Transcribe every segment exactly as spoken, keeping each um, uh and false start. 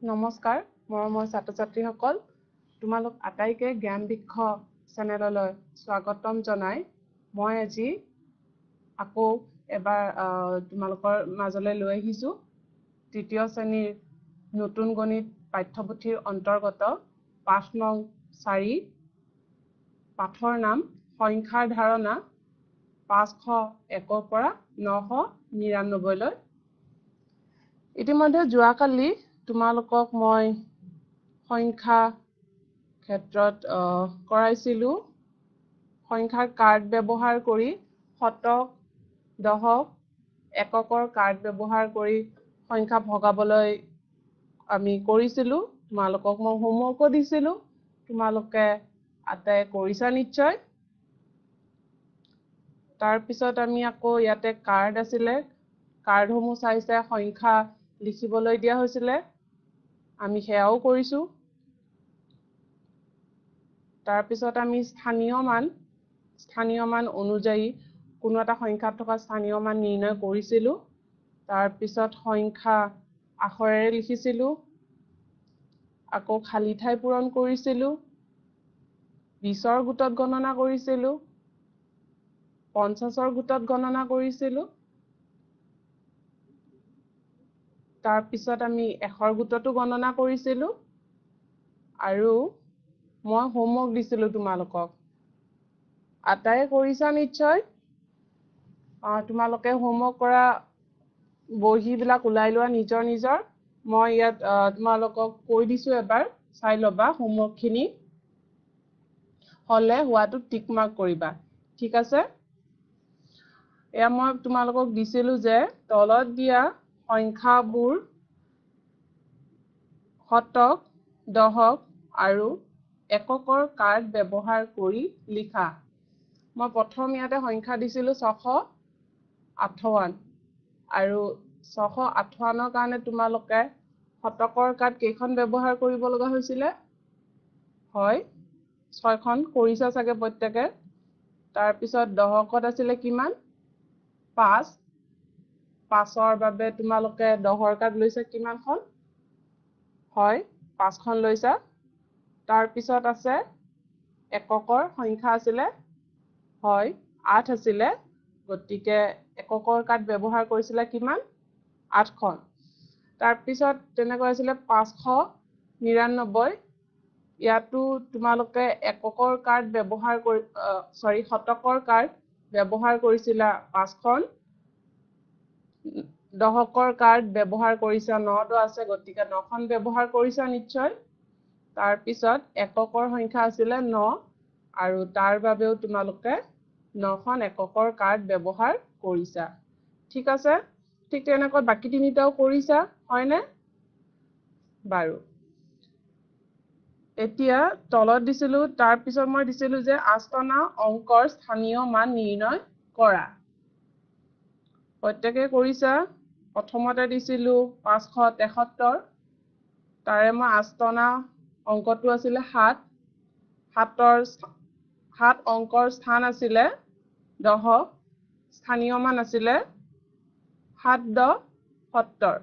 নমস্কাৰ মৰমৰ ছাত্ৰ-ছাত্ৰীসকল, তোমালোক আটাইকে জ্ঞান বৃক্ষ চেনেললৈ স্বাগতম জনাই মই আজি আকৌ এবাৰ তোমালোকৰ মাজলৈ লৈ আহিছোঁ তৃতীয় শ্ৰেণীৰ নতুন গণিত পাঠ্যপুথিৰ অন্তৰ্গত পাঠ নং চাৰি, পাঠৰ নাম সংখ্যাৰ ধাৰণা, পাঁচশ একৰ পৰা নশ নিৰান্নব্বৈলৈ। ইতিমধ্যে যোৱাকালি তোমালোকক মই সংখ্যা ক্ষেত্ৰত কৰাইছিলোঁ সংখ্যাৰ কাৰ্ড ব্যৱহাৰ কৰি, শতক, দশক, এককৰ কাৰ্ড ব্যৱহাৰ কৰি সংখ্যা ভগাবলৈ আমি কৰিছিলোঁ। তোমালোকক মই হোমৱৰ্কো দিছিলোঁ, তোমালোকে আটাই কৰিছা নিশ্চয়। তাৰপিছত আমি আকৌ ইয়াতে কাৰ্ড আছিলে, কাৰ্ডসমূহ চাই চাই সংখ্যা লিখিবলৈ দিয়া হৈছিলে, আমি সেয়াও কৰিছোঁ। তাৰপিছত আমি স্থানীয় মান, স্থানীয় মান অনুযায়ী কোনো এটা সংখ্যাত থকা স্থানীয় মান নিৰ্ণয় কৰিছিলোঁ। তাৰপিছত সংখ্যা আখৰেৰে লিখিছিলোঁ, আকৌ খালী ঠাই পূৰণ কৰিছিলোঁ, বিছৰ গোটত গণনা কৰিছিলোঁ, পঞ্চাছৰ গোটত গণনা কৰিছিলোঁ। তাৰপিছত আমি এশৰ গোটতো গণনা কৰিছিলোঁ। আৰু মই হোমৱৰ্ক দিছিলোঁ তোমালোকক, আটায়ে কৰিছা নিশ্চয়। তোমালোকে হোমৱৰ্ক কৰা বহীবিলাক ওলাই লোৱা নিজৰ নিজৰ। মই ইয়াত তোমালোকক কৈ দিছোঁ, এবাৰ চাই ল'বা হোমৱৰ্কখিনি, হ'লে হোৱাটো টিক মাৰ্ক কৰিবা, ঠিক আছে? এয়া মই তোমালোকক দিছিলোঁ যে তলত দিয়া সংখ্যাবোৰ শতক, দশক আৰু এককৰ কাৰ্ড ব্যৱহাৰ কৰি লিখা। মই প্ৰথম ইয়াতে সংখ্যা দিছিলোঁ ছশ আঠৱন্ন, আৰু ছশ আঠৱন্নৰ কাৰণে তোমালোকে শতকৰ কাৰ্ড কেইখন ব্যৱহাৰ কৰিব লগা হৈছিলে? হয়, ছয়খন কৰিছা চাগে প্ৰত্যেকে। তাৰপিছত দশকত আছিলে কিমান? পাঁচ। পাঁচৰ বাবে তোমালোকে দহৰ কাৰ্ড লৈছা কিমানখন? হয়, পাঁচখন লৈছা। তাৰপিছত আছে এককৰ সংখ্যা আছিলে, হয়, আঠ আছিলে, গতিকে এককৰ কাৰ্ড ব্যৱহাৰ কৰিছিলা কিমান? আঠখন। তাৰপিছত তেনেকৈ আছিলে পাঁচশ নিৰান্নব্বৈ, ইয়াতো তোমালোকে এককৰ কাৰ্ড ব্যৱহাৰ কৰি, চৰি, শতকৰ কাৰ্ড ব্যৱহাৰ কৰিছিলা পাঁচখন, দশকৰ কাৰ্ড ব্যৱহাৰ কৰিছা নটো আছে, গতিকে নখন ব্যৱহাৰ কৰিছা নিশ্চয়। তাৰপিছত এককৰ সংখ্যা আছিলে ন, আৰু তাৰ বাবেও তোমালোকে নখন এককৰ কাৰ্ড ব্যৱহাৰ কৰিছা, ঠিক আছে? ঠিক তেনেকৈ বাকী তিনিটাও কৰিছা, হয়নে বাৰু? এতিয়া তলত দিছিলোঁ, তাৰপিছত মই দিছিলোঁ যে আস্তনা অংকৰ স্থানীয় মান নিৰ্ণয় কৰা। প্ৰত্যেকে কৰিছা। প্ৰথমতে দিছিলোঁ পাঁচশ তেসত্তৰ, তাৰে মই আস্তনা অংকটো আছিলে সাত, সাতৰ সাত অংকৰ স্থান আছিলে দহক, স্থানীয় মান আছিলে সাত দহ সত্তৰ,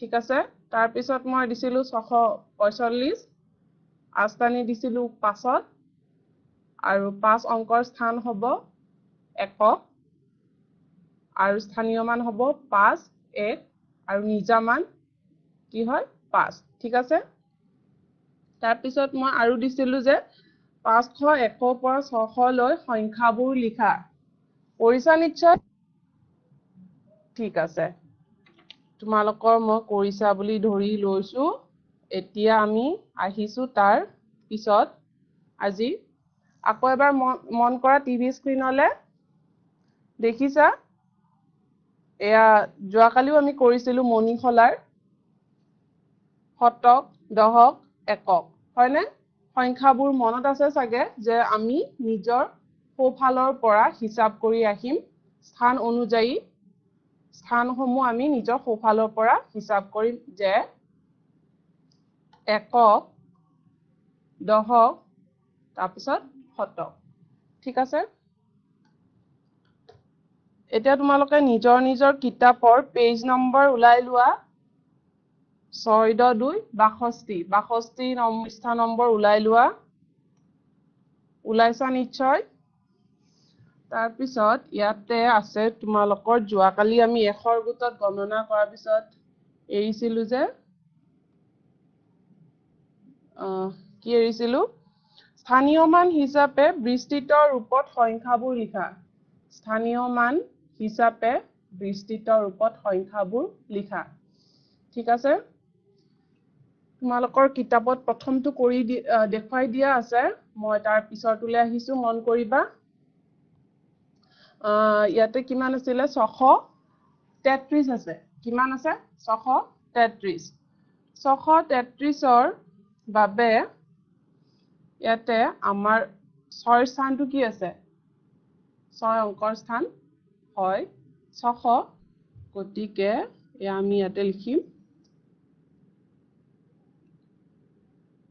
ঠিক আছে? তাৰপিছত মই দিছিলোঁ ছশ পঁয়চল্লিছ, আস্তানি দিছিলোঁ পাঁচত, আৰু পাঁচ অংকৰ স্থান হ'ব একক, আৰু স্থানীয় মান হ'ব পাঁচ এক, আৰু নিজা মান কি হয়? পাঁচ, ঠিক আছে? তাৰপিছত মই আৰু দিছিলোঁ যে পাঁচশ একৰ পৰা ছশলৈ সংখ্যাবোৰ লিখা। কৰিছা নিশ্চয়? ঠিক আছে, তোমালোকৰ মই কৰিছা বুলি ধৰি লৈছোঁ। এতিয়া আমি আহিছোঁ তাৰ পিছত আজি আকৌ এবাৰ মন কৰা টিভি স্ক্ৰীণলৈ, দেখিছা? এয়া যোৱাকালিও আমি কৰিছিলোঁ মণিশলাৰ শতক, দশক, একক, হয়নে? সংখ্যাবোৰ মনত আছে চাগে যে আমি নিজৰ সোঁফালৰ পৰা হিচাপ কৰি আহিম, স্থান অনুযায়ী স্থানসমূহ আমি নিজৰ সোঁফালৰ পৰা হিচাপ কৰিম যে একক, দশক, তাৰপিছত শতক, ঠিক আছে? এতিয়া তোমালোকে নিজৰ নিজৰ কিতাপৰ পেজ নম্বৰ ওলাই লোৱা। ছয় দহ দুই বাষষ্ঠি। বাষষ্ঠি পৃষ্ঠা নম্বৰ ওলাই লোৱা, ওলাইছা নিশ্চয়। তাৰপিছত ইয়াতে আছে তোমালোকৰ যোৱাকালি আমি এশৰ গোটত গণনা কৰাৰ পিছত এৰিছিলো যে কি এৰিছিলো? স্থানীয় মান হিচাপে বিস্তৃত ৰূপত সংখ্যাবোৰ লিখা। স্থানীয় মান হিচাপে বিস্তৃত ৰূপত সংখ্যাবোৰ লিখা। ঠিক আছে, তোমালোকৰ কিতাপত প্ৰথমটো কৰি দেখুৱাই দিয়া আছে, মই তাৰ পিছৰটোলৈ আহিছো, মন কৰিবা। ইয়াতে কিমান আছিলে? ছশ তেত্ৰিশ আছে। কিমান আছে? ছশ তেত্ৰিশ। ছশ তেত্ৰিশৰ বাবে ইয়াতে আমাৰ ছয়ৰ স্থানটো কি আছে? ছয় অংকৰ স্থান হয় ছশ, গতিকে এয়া আমি ইয়াতে লিখিম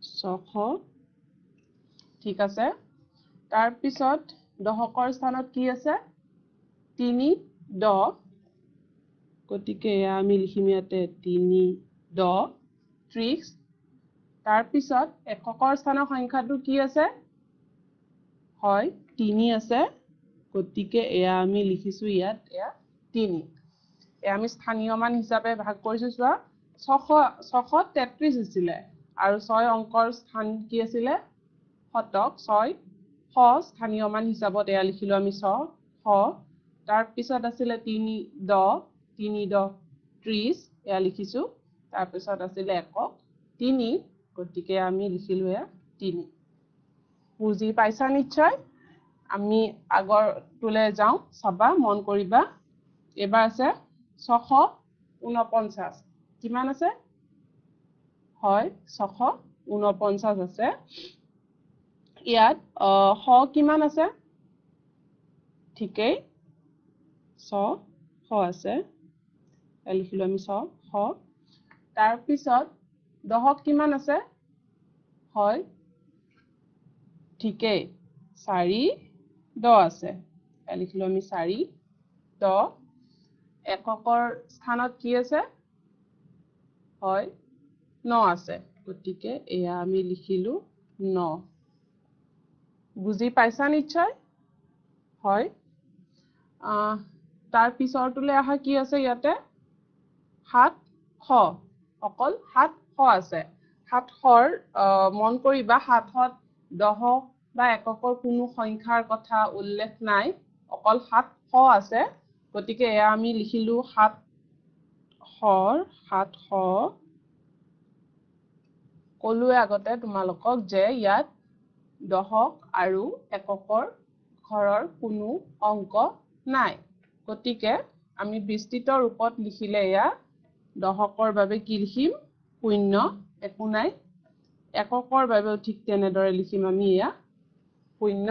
ছশ। ঠিক আছে, তাৰপিছত দশকৰ স্থানত কি আছে? তিনি দহ, গতিকে এয়া আমি লিখিম ইয়াতে তিনি দহ ত্ৰিশ। তাৰপিছত এককৰ স্থানৰ সংখ্যাটো কি আছে? হয় তিনি আছে, গতিকে এয়া আমি লিখিছো ইয়াত এয়া তিনি। এয়া আমি স্থানীয় মান হিচাপে ভাগ কৰিছো। চোৱা, ছশ ছশ তেত্ৰিশ আছিলে আৰু ছয় অংকৰ স্থান কি আছিলে? শতক, ছয় শ স্থানীয় মান হিচাপত এয়া লিখিলো আমি ছ শ। তাৰপিছত আছিলে তিনি দহ, তিনি দহ ত্ৰিশ, এয়া লিখিছো। তাৰপিছত আছিলে একক তিনি, গতিকে আমি লিখিলো এয়া তিনি। বুজি পাইছা নিশ্চয়? আমি আগৰটোলৈ যাওঁ, চাবা, মন কৰিবা। এইবাৰ আছে ছশ ঊনপঞ্চাছ। কিমান আছে? হয় ছশ ঊনপঞ্চাছ আছে। ইয়াত শ কিমান আছে? ঠিকেই ছ শ আছে, লিখিলো আমি ছ শ। তাৰপিছত দহক কিমান আছে? হয় ঠিকেই চাৰি দহ আছে, লিখিলো আমি চাৰি দহ। এককৰ স্থানত কি আছে? হয় ন আছে, গতিকে এয়া আমি লিখিলো ন। বুজি পাইছা নিশ্চয়? হয়। তাৰ পিছৰটোলৈ অহা কি আছে ইয়াতে? সাতশ, অকল সাতশ আছে। সাতশৰ মন কৰিবা, সাতশত দহক বা এককৰ কোনো সংখ্যাৰ কথা উল্লেখ নাই, অকল সাতশ আছে। গতিকে এয়া আমি লিখিলো সাতশৰ সাতশ। ক'লোৱে আগতে তোমালোকক যে ইয়াত দহক আৰু এককৰ ঘৰৰ কোনো অংক নাই, গতিকে আমি বিস্তৃত ৰূপত লিখিলে এয়া দহকৰ বাবে কি লিখিম? শূন্য, একো নাই। এককৰ বাবেও ঠিক তেনেদৰে লিখিম আমি এয়া শূন্য,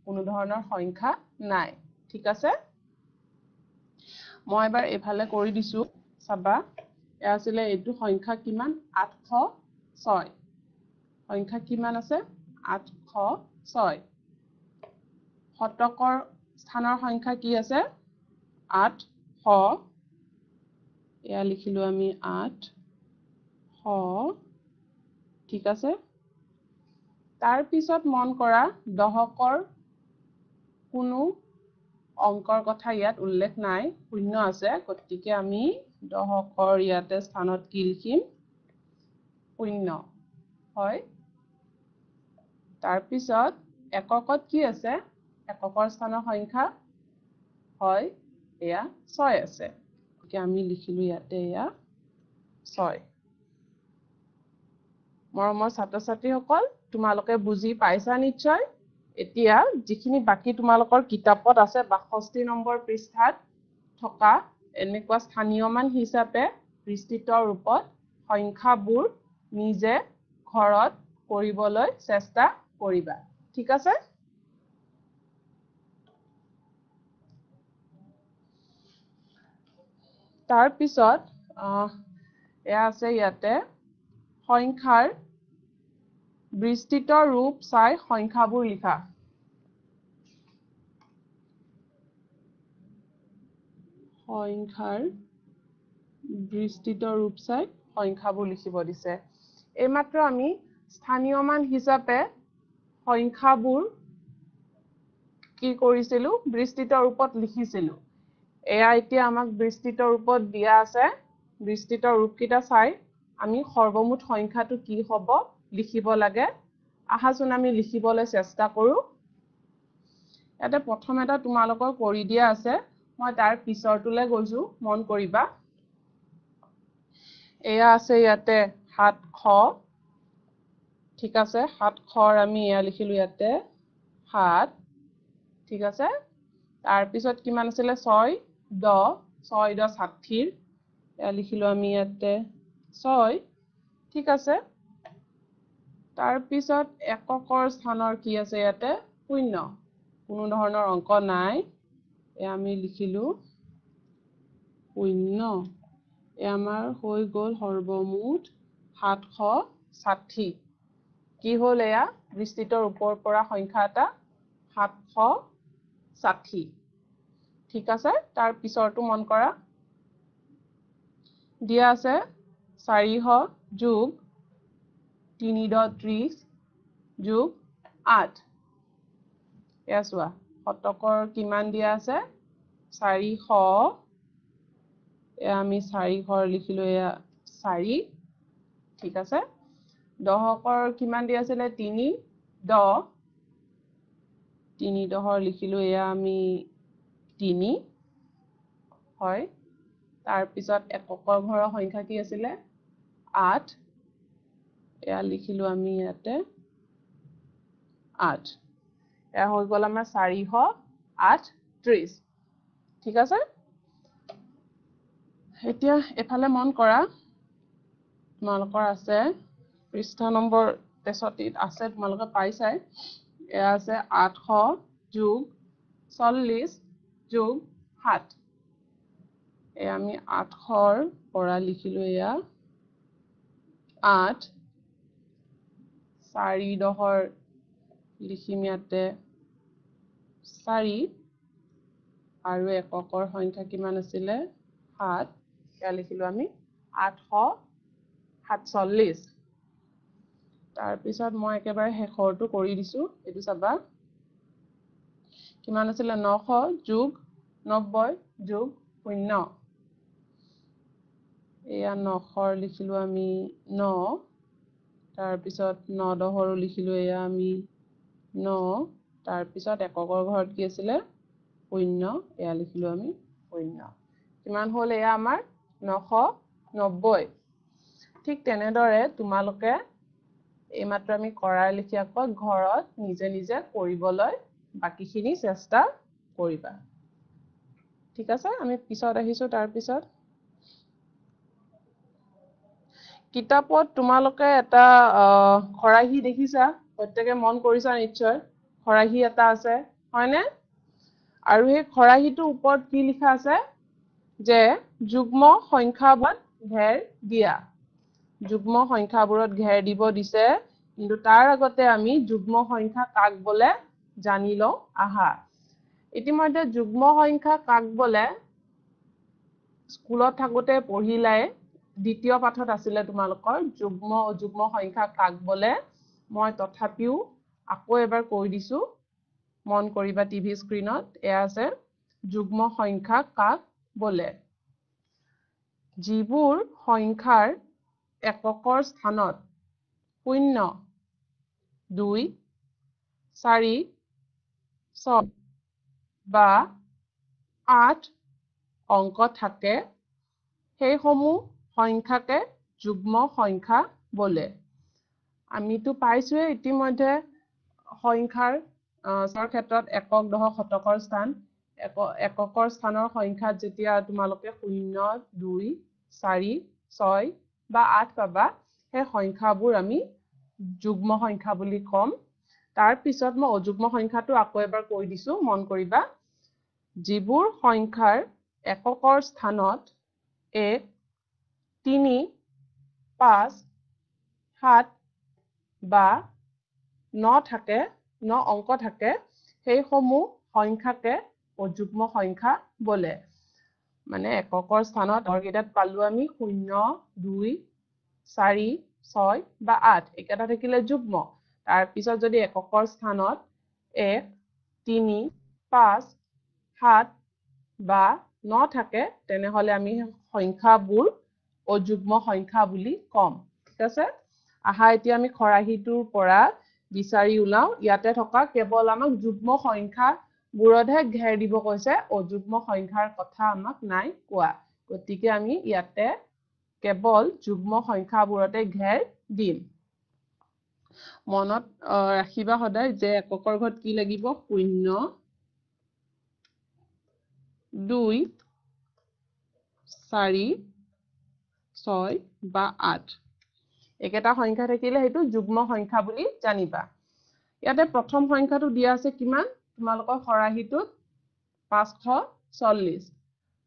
কোনো ধৰণৰ সংখ্যা নাই। ঠিক আছে, মই এবাৰ এইফালে কৰি দিছো, চাবা। এয়া আছিলে এইটো সংখ্যা কিমান? আঠশ ছয়। সংখ্যা কিমান আছে? আঠশ ছয়। শতকৰ স্থানৰ সংখ্যা কি আছে? আঠশ। এয়া লিখিলো আমি আঠশ। ঠিক আছে, তাৰপিছত মন কৰা দহকৰ কোনো অংকৰ কথা ইয়াত উল্লেখ নাই, শূন্য আছে, গতিকে আমি দহকৰ ইয়াতে স্থানত কি লিখিম? শূন্য। হয়। তাৰপিছত এককত কি আছে? এককৰ স্থানৰ সংখ্যা হয় এয়া ছয় আছে, গতিকে আমি লিখিলো ইয়াতে এয়া ছয়। মৰমৰ ছাত্ৰ ছাত্ৰীসকল, তোমালোকে বুজি পাইছা নিশ্চয়। এতিয়া যিখিনি বাকী তোমালোকৰ কিতাপত আছে বাষষ্ঠি নম্বৰ পৃষ্ঠাত থকা এনেকুৱা স্থানীয় মান হিচাপে বিস্তৃত ৰূপত সংখ্যাবোৰ নিজে ঘৰত কৰিবলৈ চেষ্টা কৰিবা। ঠিক আছে? তাৰপিছত এয়া আছে ইয়াতে সংখ্যাৰ বিস্তৃত ৰূপ চাই সংখ্যাবোৰ লিখা। সংখ্যাৰ বিস্তৃত ৰূপ চাই সংখ্যাবোৰ লিখিব দিছে। এইমাত্ৰ আমি স্থানীয় মান হিচাপে সংখ্যাবোৰ কি কৰিছিলোঁ? বিস্তৃত ৰূপত লিখিছিলোঁ। এয়া এতিয়া আমাক বিস্তৃত ৰূপত দিয়া আছে। বিস্তৃত ৰূপকেইটা চাই আমি সৰ্বমুঠ সংখ্যাটো কি হ'ব লিখিব লাগে। আহাচোন আমি লিখিবলৈ চেষ্টা কৰোঁ। ইয়াতে প্ৰথম এটা তোমালোকৰ কৰি দিয়া আছে, মই তাৰ পিছৰটোলৈ গৈছোঁ, মন কৰিবা। এয়া আছে ইয়াতে সাতশ, ঠিক আছে। সাতশৰ আমি এয়া লিখিলোঁ ইয়াতে সাত, ঠিক আছে। তাৰপিছত কিমান আছিলে? ছয় দহ, ছয় দহ ষাঠিৰ, এয়া লিখিলোঁ আমি ইয়াতে ছয়, ঠিক আছে। তাৰপিছত এককৰ স্থানৰ কি আছে ইয়াতে? শূন্য, কোনো ধৰণৰ অংক নাই, এয়া আমি লিখিলোঁ শূন্য। এয়া আমাৰ হৈ গ'ল সৰ্বমুঠ সাতশ ষাঠি। কি হ'ল? এয়া বিস্তৃত ৰূপৰ পৰা সংখ্যা এটা সাতশ ষাঠি, ঠিক আছে। তাৰ পিছৰটো মন কৰা, দিয়া আছে চাৰিশ যোগ তিনি দহ ত্ৰিশ যোগ আঠ। এয়া চোৱা, শতকৰ কিমান দিয়া আছে? চাৰিশ। এয়া আমি চাৰিশৰ লিখিলোঁ, এয়া চাৰি, ঠিক আছে। দহকৰ কিমান দিয়া আছিলে? তিনি দহ, তিনি দহৰ লিখিলোঁ এয়া আমি তিনি, হয়। তাৰপিছত এককৰ ঘৰৰ সংখ্যা কি আছিলে? আঠ, এয়া লিখিলোঁ আমি ইয়াতে আঠ। এয়া হৈ গ'ল আমাৰ চাৰিশ আঠ ত্ৰিশ, ঠিক আছে। এতিয়া এফালে মন কৰা, তোমালোকৰ আছে পৃষ্ঠা নম্বৰ তেষষ্ঠিত আছে, তোমালোকে পাইছাই। এয়া আছে আঠশ যোগ চল্লিছ যোগ সাত। এয়া আমি আঠশৰ পৰা লিখিলোঁ এয়া আঠ, চাৰি দহৰ লিখিম ইয়াতে চাৰি, আৰু এককৰ সংখ্যা কিমান আছিলে? সাত, এয়া লিখিলোঁ আমি আঠশ সাতচল্লিছ। তাৰপিছত মই একেবাৰে শেষৰটো কৰি দিছোঁ, এইটো চাবা কিমান আছিলে? নশ যোগ নব্বৈ যোগ শূন্য। এয়া নশৰ লিখিলোঁ আমি ন, তাৰপিছত ন দহৰো লিখিলোঁ এয়া আমি ন, তাৰপিছত এককৰ ঘৰত কি আছিলে? শূন্য, এয়া লিখিলোঁ আমি শূন্য। কিমান হ'ল এয়া আমাৰ? নশ নব্বৈ। ঠিক তেনেদৰে তোমালোকে এইমাত্ৰ আমি কৰাৰ লেখীয়াকৈ ঘৰত নিজে নিজে কৰিবলৈ বাকীখিনি চেষ্টা কৰিবা, ঠিক আছে। আমি পিছত আহিছোঁ। তাৰপিছত কিতাপত তোমালোকে এটা খৰাহী দেখিছা, প্ৰত্যেকে মন কৰিছা নিশ্চয়, খৰাহী এটা আছে, হয়নে? আৰু সেই খৰাহীটোৰ ওপৰত কি লিখা আছে? যে যুগ্ম সংখ্যাবোৰত ঘেৰ দিয়া। যুগ্ম সংখ্যাবোৰত ঘেৰ দিব দিছে, কিন্তু তাৰ আগতে আমি যুগ্ম সংখ্যা কাক বোলে জানি লওঁ আহা। ইতিমধ্যে যুগ্ম সংখ্যা কাক বোলে স্কুলত থাকোঁতে পঢ়িলাই, দ্বিতীয় পাঠত আছিলে তোমালোকৰ যুগ্ম অযুগ্ম সংখ্যা কাক বোলে। মই তথাপিও আকৌ এবাৰ কৈ দিছোঁ, মন কৰিবা টিভি স্ক্ৰীণত এয়া আছে যুগ্ম সংখ্যা কাক বোলে। যিবোৰ সংখ্যাৰ এককৰ স্থানত শূন্য, দুই, চাৰি, ছয় বা আঠ অংক থাকে, সেইসমূহ সংখ্যাকে যুগ্ম সংখ্যা বোলে। আমিতো পাইছোৱে ইতিমধ্যে সংখ্যাৰ ক্ষেত্ৰত একক, দশক, শতকৰ স্থান। এককৰ স্থানৰ সংখ্যাত যেতিয়া তোমালোকে শূন্য, দুই, চাৰি, ছয় বা আঠ পাবা, সেই সংখ্যাবোৰ আমি যুগ্ম সংখ্যা বুলি ক'ম। তাৰপিছত মই অযুগ্ম সংখ্যাটো আকৌ এবাৰ কৈ দিছোঁ, মন কৰিবা। যিবোৰ সংখ্যাৰ এককৰ স্থানত এক, তিনি, পাঁচ, সাত বা ন থাকে, ন অংক থাকে, সেইসমূহ সংখ্যাকে অযুগ্ম সংখ্যা বোলে। মানে এককৰ স্থানত আগৰকেইটাত পালোঁ আমি শূন্য, দুই, চাৰি, ছয় বা আঠ, এইকেইটা থাকিলে যুগ্ম। তাৰপিছত যদি এককৰ স্থানত এক, তিনি, পাঁচ, সাত বা ন থাকে, তেনেহ'লে আমি সংখ্যাবোৰ অযুগ্ম সংখ্যা বুলি ক'ম। ঠিক আছে, আহা এতিয়া আমি খৰাহিটোৰ পৰা বিচাৰি ওলাওঁ। ইয়াতে থকা কেৱল আমাক যুগ্ম সংখ্যাবোৰতহে ঘেৰ দিব কৈছে, অযুগ্ম সংখ্যাৰ কথা আমাক নাই কোৱা। গতিকে আমি ইয়াতে কেৱল যুগ্ম সংখ্যাবোৰতে ঘেৰ দিম। মনত ৰাখিবা সদায় যে এককৰ ঘৰত কি লাগিব? শূন্য, দুই, চাৰি, ছয় বা আঠ, একেটা সংখ্যা থাকিলে সেইটো যুগ্ম সংখ্যা বুলি জানিবা। ইয়াতে প্ৰথম সংখ্যাটো দিয়া আছে কিমান? তোমালোকৰ খৰাহিটোত পাঁচশ চল্লিছ,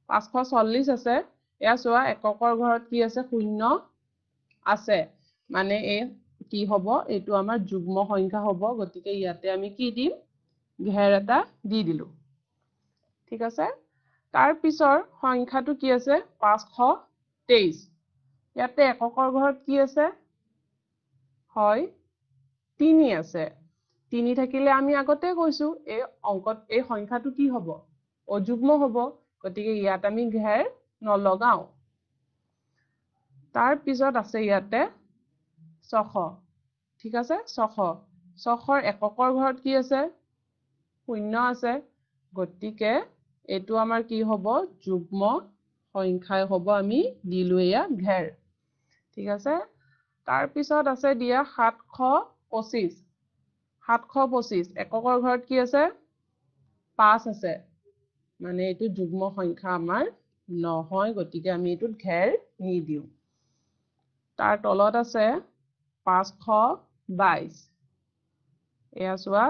পাঁচশ চল্লিছ আছে। এয়া চোৱা, এককৰ ঘৰত কি আছে? শূন্য আছে, মানে এই কি হ'ব? এইটো আমাৰ যুগ্ম সংখ্যা হ'ব। গতিকে ইয়াতে আমি কি দিম? ঘেৰ এটা দি দিলো। ঠিক আছে, তাৰ পিছৰ সংখ্যাটো কি আছে? পাঁচশ তেইছ। ইয়াতে এককৰ ঘৰত কি আছে? হয়, তিনি আছে। তিনি থাকিলে আমি আগতে কৈছো এই অংকত এই সংখ্যাটো কি হ'ব? অযুগ্ম হ'ব। গতিকে ইয়াত আমি ঘেৰ নলগাওঁ। তাৰ পিছত আছে ইয়াতে ছশ। ঠিক আছে, ছশ, ছশৰ এককৰ ঘৰত কি আছে? শূন্য আছে। গতিকে এইটো আমাৰ কি হ'ব? যুগ্ম সংখ্যাই হ'ব। আমি দিলো এয়া ঘেৰ। ঠিক আছে, তাৰপিছত আছে দিয়া সাতশ পঁচিছ। সাতশ পঁচিছ এককৰ ঘৰত কি আছে? পাঁচ আছে, মানে এইটো যুগ্ম সংখ্যা আমাৰ নহয়, গতিকে আমি এইটোত ঘেৰ নিদিওঁ। তাৰ তলত আছে পাঁচশ বাইছ। এয়া চোৱা,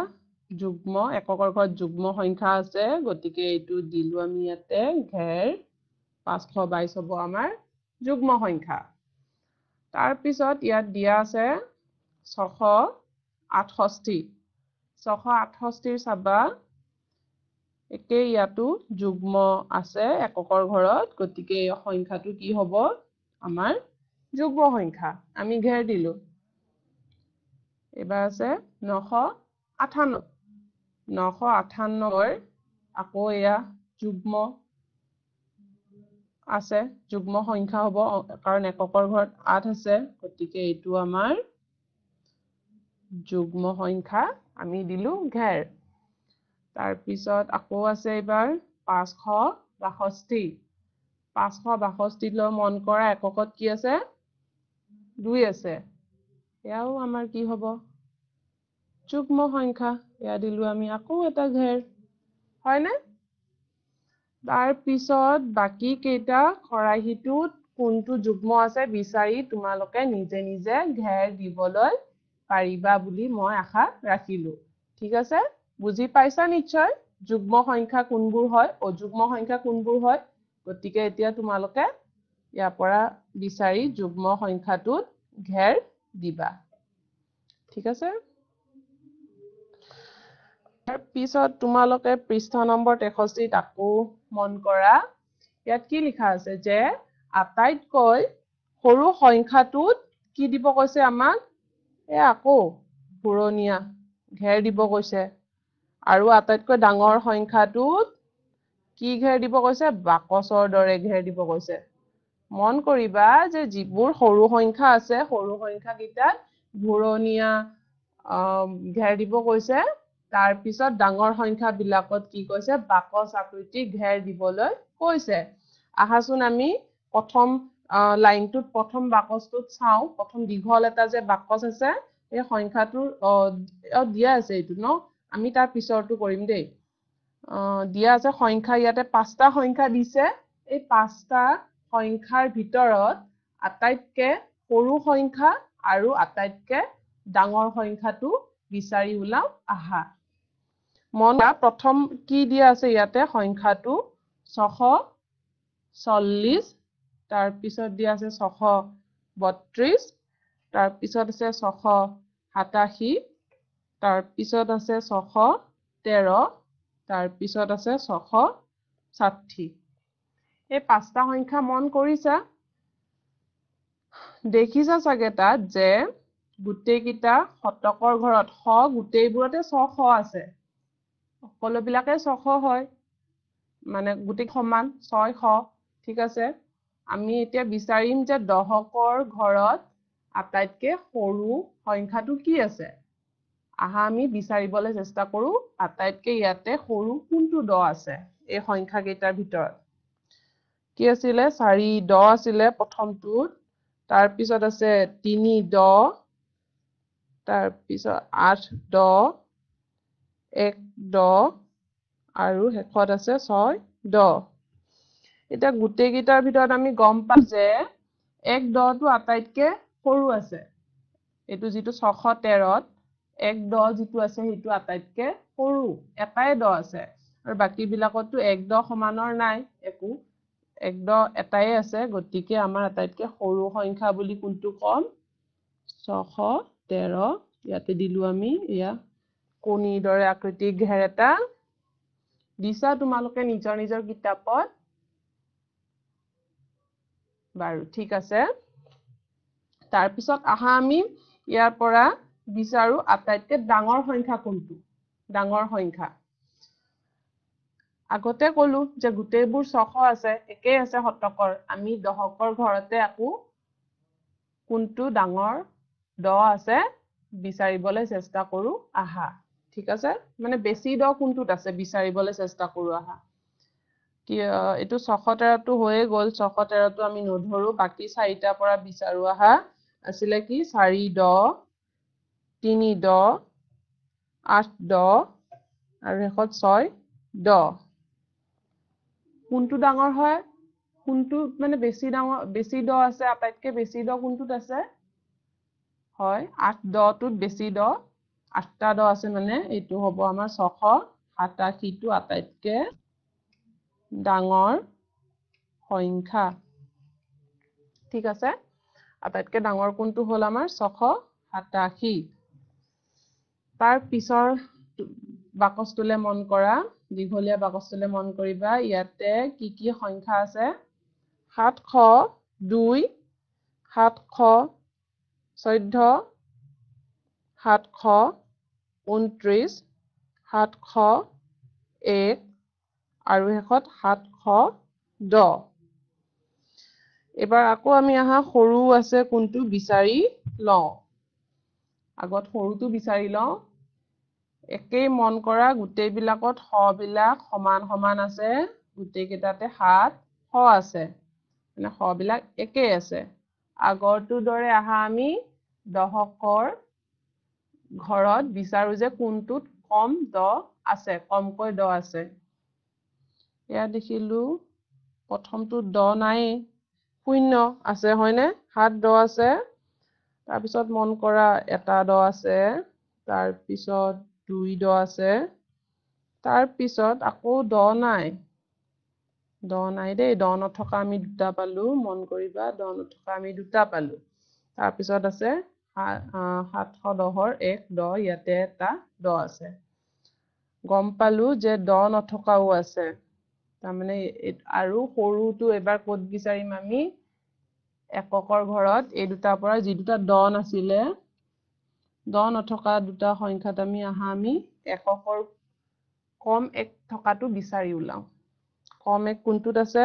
যুগ্ম, এককৰ ঘৰত যুগ্ম সংখ্যা আছে, গতিকে এইটো দিলো আমি ইয়াতে ঘেৰ। পাঁচশ বাইছ হ'ব আমাৰ যুগ্ম সংখ্যা। তাৰপিছত ইয়াত দিয়া আছে ছশ আঠষষ্ঠি। ছশ আঠষষ্ঠিৰ চাবা একে ইয়াতো যুগ্ম আছে এককৰ ঘৰত, গতিকে এই সংখ্যাটো কি হ'ব? আমাৰ যুগ্ম সংখ্যা, আমি ঘেৰ দিলো। এইবাৰ আছে নশ আঠান্ন। নশ আঠান্নৰ আকৌ এয়া যুগ্ম আছে, যুগ্ম সংখ্যা হ'ব, কাৰণ এককৰ ঘৰত আঠ আছে, গতিকে এইটো আমাৰ যুগ্ম সংখ্যা, আমি দিলো ঘেৰ। তাৰপিছত আকৌ আছে এইবাৰ পাঁচশ বাষষ্ঠি। পাঁচশ বাষষ্ঠিলৈ মন কৰা, এককত কি আছে? দুই আছে, এয়াও আমাৰ কি হ'ব? যুগ্ম সংখ্যা, এয়া দিলো আমি আকৌ এটা ঘেৰ, হয়নে? তাৰপিছত বাকী কেইটা খৰাহিটোত কোনটো যুগ্ম আছে বিচাৰি তোমালোকে নিজে নিজে ঘেৰ দিবলৈ পাৰিবা বুলি মই আশা ৰাখিলো। ঠিক আছে, বুজি পাইছা নিশ্চয় যুগ্ম সংখ্যা কোনবোৰ হয়, অযুগ্ম সংখ্যা কোনবোৰ হয়। গতিকে এতিয়া তোমালোকে ইয়াৰ পৰা বিচাৰি যুগ্ম সংখ্যাটোত ঘেৰ দিবা। ঠিক আছে, তাৰপিছত তোমালোকে পৃষ্ঠা নম্বৰ তেষষ্ঠিত আকৌ মন কৰা, ইয়াত কি লিখা আছে যে আটাইতকৈ সৰু সংখ্যাটোত কি দিব কৈছে আমাক? এই আকৌ ঘূৰণীয়া ঘেৰ দিব কৈছে। আৰু আটাইতকৈ ডাঙৰ সংখ্যাটোত কি ঘেৰ দিব কৈছে? বাকচৰ দৰে ঘেৰ দিব কৈছে। মন কৰিবা যে যিবোৰ সৰু সংখ্যা আছে, সৰু সংখ্যাকেইটাত ঘূৰণীয়া ঘেৰ দিব কৈছে। তাৰপিছত ডাঙৰ সংখ্যাবিলাকত কি কৈছে? বাকচ আকৃতি ঘেৰ দিবলৈ কৈছে। আহাচোন আমি প্ৰথম লাইনটোত প্ৰথম বাকচটোত চাওঁ। প্ৰথম দীঘল এটা যে বাকচ আছে, এই সংখ্যাটোৰ দিয়া আছে এইটো ন, আমি তাৰ পিছৰটো কৰিম দেই। দিয়া আছে সংখ্যা, ইয়াতে পাঁচটা সংখ্যা দিছে। এই পাঁচটা সংখ্যাৰ ভিতৰত আটাইতকৈ সৰু সংখ্যা আৰু আটাইতকৈ ডাঙৰ সংখ্যাটো বিচাৰি ওলাওঁ আহা। মন প্ৰথম কি দিয়া আছে ইয়াতে? সংখ্যাটো ছশ চল্লিছ, তাৰপিছত দিয়া আছে ছশ বত্ৰিছ, তাৰপিছত আছে ছশ সাতাশী, তাৰপিছত আছে ছশ তেৰ, তাৰপিছত আছে ছশ ষাঠি। এই পাঁচটা সংখ্যা মন কৰিছা? দেখিছা চাগে তাত যে গোটেইকেইটা শতকৰ ঘৰত শ গোটেইবোৰতে ছশ আছে, সকলোবিলাকে ছশ হয়, মানে গোটেই সমান ছয়শ। ঠিক আছে, আমি এতিয়া বিচাৰিম যে দহকৰ ঘৰত আটাইতকৈ সৰু সংখ্যাটো কি আছে। আহা আমি বিচাৰিবলৈ চেষ্টা কৰোঁ আটাইতকৈ ইয়াতে সৰু কোনটো দহ আছে এই সংখ্যাকেইটাৰ ভিতৰত। কি আছিলে? চাৰি দহ আছিলে প্ৰথমটোত, তাৰপিছত আছে তিনি দহ, তাৰপিছত আঠ দহ, এক দহ আৰু শেষত আছে ছয় দহ। এতিয়া গোটেইকেইটাৰ ভিতৰত আমি গম পাম যে এক দহটো আটাইতকৈ সৰু আছে। এইটো যিটো ছশ তেৰত এক দহ যিটো আছে সেইটো আটাইতকৈ সৰু, এটাই দহ আছে আৰু বাকীবিলাকতো এক দহ সমানৰ নাই, একো এক দহ এটাই আছে। গতিকে আমাৰ আটাইতকৈ সৰু সংখ্যা বুলি কোনটো ক'ম? ছশ তেৰ। ইয়াতে দিলোঁ আমি এয়া কণীৰ দৰে আকৃতিৰ ঘেৰ এটা দিছা তোমালোকে নিজৰ নিজৰ কিতাপত। বাৰু ঠিক আছে, তাৰপিছত আহা আমি ইয়াৰ পৰা বিচাৰো আটাইতকৈ ডাঙৰ সংখ্যা কোনটো। ডাঙৰ সংখ্যা আগতে ক'লো যে গোটেইবোৰ ছশ আছে, একেই আছে শতকৰ। আমি দহকৰ ঘৰতে আকৌ কোনটো ডাঙৰ দহ আছে বিচাৰিবলৈ চেষ্টা কৰোঁ আহা। ঠিক আছে, মানে বেছি দহ কোনটোত আছে বিচাৰিবলৈ চেষ্টা কৰোঁ আহা। কি এইটো ছশ তেৰটো হৈয়ে গ'ল, ছশ তেৰটো আমি নধৰোঁ, বাকী চাৰিটাৰ পৰা বিচাৰোঁ আহা। আছিলে কি? চাৰি দহ, তিনি দহ, আঠ দহ আৰু শেষত ছয় দহ। কোনটো ডাঙৰ হয়? কোনটো মানে বেছি ডাঙৰ, বেছি দহ আছে, আটাইতকৈ বেছি দহ কোনটোত আছে? হয়, আঠ দহটোত বেছি দহ, আঠটা দহ আছে, মানে এইটো হ'ব আমাৰ ছশ সাতাশীটো আটাইতকৈ ডাঙৰ সংখ্যা। ঠিক আছে, আটাইতকৈ ডাঙৰ কোনটো হ'ল আমাৰ ছশ সাতাশী। তাৰ পিছৰ বাকচটোলৈ মন কৰা, দীঘলীয়া বাকচটোলৈ মন কৰিবা। ইয়াতে কি কি সংখ্যা আছে? সাতশ দুই, সাতশ চৈধ্য, সাতশ ঊনত্ৰিছ, সাতশ এক আৰু শেষত সাতশ দহ। এবাৰ আকৌ আমি আহা সৰু আছে কোনটো বিচাৰি লওঁ। আগত সৰুটো বিচাৰি লওঁ। একেই মন কৰা, গোটেইবিলাকত শবিলাক সমান সমান আছে, গোটেইকেইটাতে সাত শ আছে, মানে শবিলাক একেই আছে। আগৰটোৰ দৰে আহা আমি দহকৰ ঘৰত বিচাৰো যে কোনটোত কম দহ আছে, কমকৈ দহ আছে। ইয়াত দেখিলো প্ৰথমটোত দহ নাই, শূন্য আছে, হয়নে? সাত দহ আছে। তাৰপিছত মন কৰা এটা দহ আছে, তাৰপিছত দুই দহ আছে, তাৰপিছত আকৌ দহ নাই, দহ নাই দেই, দহ নথকা আমি দুটা পালো, মন কৰিবা দহ নথকা আমি দুটা পালো। তাৰপিছত আছে সাতশ দহৰ এক দহ, ইয়াতে এটা দহ আছে। গম পালো যে দহ নথকাও আছে, তাৰমানে আৰু সৰুটো এবাৰ ক'ত বিচাৰিম আমি? এককৰ ঘৰত এই দুটাৰ পৰা যি দুটা দহ নাছিলে, দহ নথকা দুটা সংখ্যাত আমি আহা আমি এককৰ কম এক থকাটো বিচাৰি ওলাওঁ। কম এক কোনটোত আছে?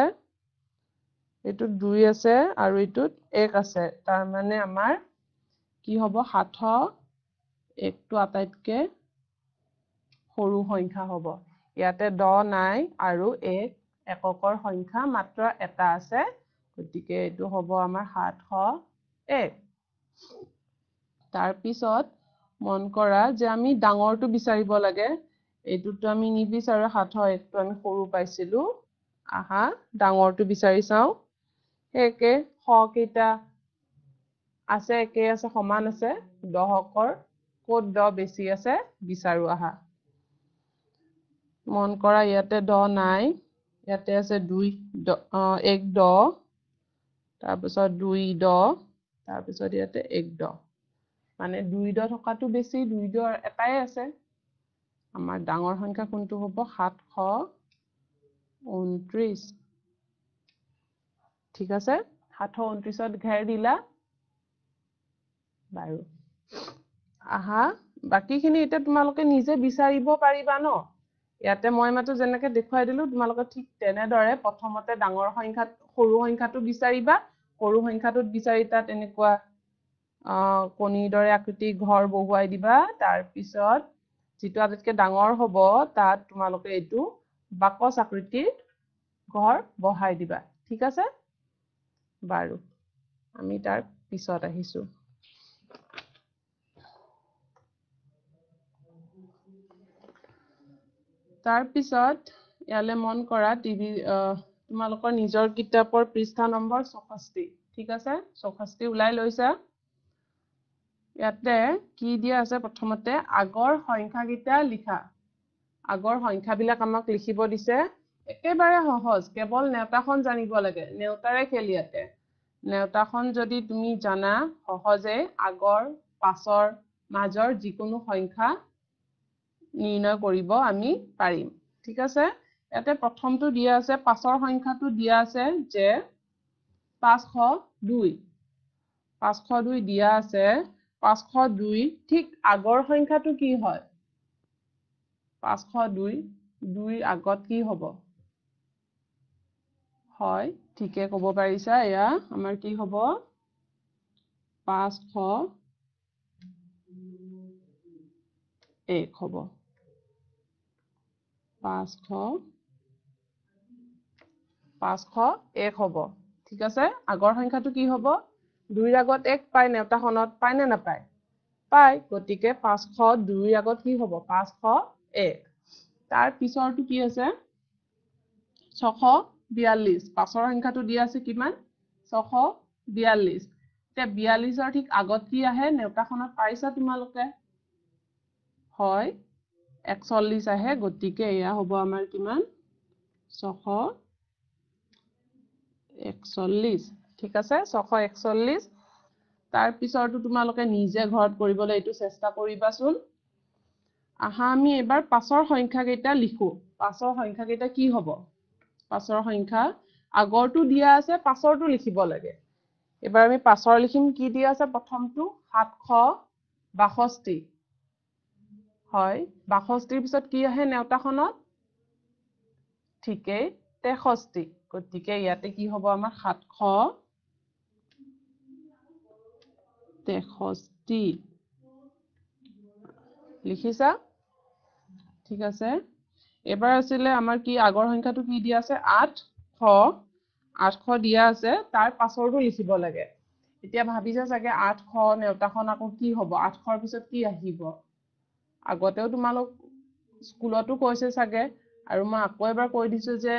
এইটোত দুই আছে আৰু এইটোত এক আছে, তাৰমানে আমাৰ কি হ'ব? সাতশ একটো আটাইতকৈ সৰু সংখ্যা হ'ব। ইয়াতে দহ নাই আৰু এক এককৰ সংখ্যা মাত্ৰ এটা আছে, গতিকে এইটো হ'ব আমাৰ সাতশ এক। তাৰপিছত মন কৰা যে আমি ডাঙৰটো বিচাৰিব লাগে, এইটোতো আমি নিবিচাৰোঁ, সাতশ একটো আমি সৰু পাইছিলোঁ। আহা ডাঙৰটো বিচাৰি চাওঁ। সেই একে শ কেইটা আছে, একেই আছে, সমান আছে, দহকৰ ক'ত দহ বেছি আছে বিচাৰোঁ আহা। মন কৰা ইয়াতে দহ নাই, ইয়াতে আছে দুই এক দহ, তাৰপিছত দুই দহ, তাৰপিছত ইয়াতে এক দহ, মানে দুই দহ থকাটো বেছি, দুই দহ এটাই আছে। আমাৰ ডাঙৰ সংখ্যা কোনটো হ'ব? সাতশ ঊনত্ৰিছ। ঠিক আছে, সাতশ ঊনত্ৰিছত ঘেৰ দিলা। বাৰু আহা, বাকীখিনি এতিয়া তোমালোকে নিজে বিচাৰিব পাৰিবা ন। ইয়াতে মই মাত্ৰ যেনেকৈ দেখুৱাই দিলোঁ, তোমালোকে ঠিক তেনেদৰে প্ৰথমতে ডাঙৰ সংখ্যাত সৰু সংখ্যাটো বিচাৰিবা, সৰু সংখ্যাটোত বিচাৰি তাত এনেকুৱা কণীৰ দৰে আকৃতিৰ ঘৰ বহুৱাই দিবা। তাৰপিছত যিটো আটাইতকৈ ডাঙৰ হ'ব তাত তোমালোকে এইটো বাকচ আকৃতিৰ ঘৰ বহাই দিবা। ঠিক আছে, বাৰু আমি তাৰ পিছত আহিছোঁ। তাৰপিছত ইয়ালৈ মন কৰা, টিভি তোমালোকৰ নিজৰ কিতাপৰ পৃষ্ঠা নম্বৰ চৌষষ্ঠি। ঠিক আছে, চৌষষ্ঠি ওলাই লৈছা। ইয়াতে কি দিয়া আছে? প্ৰথমতে আগৰ সংখ্যাকেইটা লিখা। আগৰ সংখ্যাবিলাক আমাক লিখিব দিছে। একেবাৰে সহজ, কেৱল নেওতাখন জানিব লাগে, নেওতাৰে খেল ইয়াতে। নেওতাখন যদি তুমি জানা, সহজে আগৰ পাছৰ মাজৰ যিকোনো সংখ্যা নিৰ্ণয় কৰিব আমি পাৰিম। ঠিক আছে, ইয়াতে প্ৰথমটো দিয়া আছে, পাছৰ সংখ্যাটো দিয়া আছে যে পাঁচশ দুই, পাঁচশ দুই দিয়া আছে। পাঁচশ দুই ঠিক আগৰ সংখ্যাটো কি হয়? পাঁচশ দুই, দুইৰ আগত কি হ'ব? হয়, ঠিকে ক'ব পাৰিছা। এয়া আমাৰ কি হ'ব? পাঁচশ এক হ'ব, পাঁচশ পাঁচশ এক হ'ব। ঠিক আছে, আগৰ সংখ্যাটো কি হ'ব? দুইৰ আগত এক পায় নেওতাখনত, পায় নে নাপায়? পায়। গতিকে পাঁচশ দুইৰ আগত কি হ'ব? পাঁচশ এক। তাৰ পিছৰটো কি আছে? ছশ বিয়াল্লিছ। পাছৰ সংখ্যাটো দিয়া আছে কিমান? ছশ বিয়াল্লিছ। এতিয়া বিয়াল্লিছৰ ঠিক আগত কি আহে নেওতাখনত পাইছা তোমালোকে? হয়, একচল্লিছ আহে। গতিকে এয়া হ'ব আমাৰ কিমান? ছশ একচল্লিছ। ঠিক আছে, ছশ একচল্লিছ। তাৰ পিছৰটো তোমালোকে নিজে ঘৰত কৰিবলৈ এইটো চেষ্টা কৰিবাচোন। আহা আমি এইবাৰ পাছৰ সংখ্যাকেইটা লিখো। পাছৰ সংখ্যাকেইটা কি হ'ব? পাছৰ সংখ্যা আগৰটো দিয়া আছে, পাছৰটো লিখিব লাগে। এইবাৰ আমি পাছৰ লিখিম। কি দিয়া আছে? প্ৰথমটো সাতশ বাষষ্ঠি। হয়, বাষষ্ঠিৰ পিছত কি আহে নেওতাখনত? ঠিকেই, তেষষ্ঠি। গতিকে ইয়াতে কি হ'ব আমাৰ? সাতশ তেষষ্ঠি লিখিছা। ঠিক আছে, এইবাৰ আছিলে আমাৰ কি? আগৰ সংখ্যাটো কি দিয়া আছে? আঠশ, আঠশ দিয়া আছে। তাৰ পাছৰটো লিখিব লাগে। এতিয়া ভাবিছা চাগে আঠশ নেওতাখন আকৌ কি হ'ব? আঠশৰ পিছত কি আহিব? আগতেও তোমালোক স্কুলতো কৈছে চাগে, আৰু মই আকৌ এবাৰ কৈ দিছোঁ যে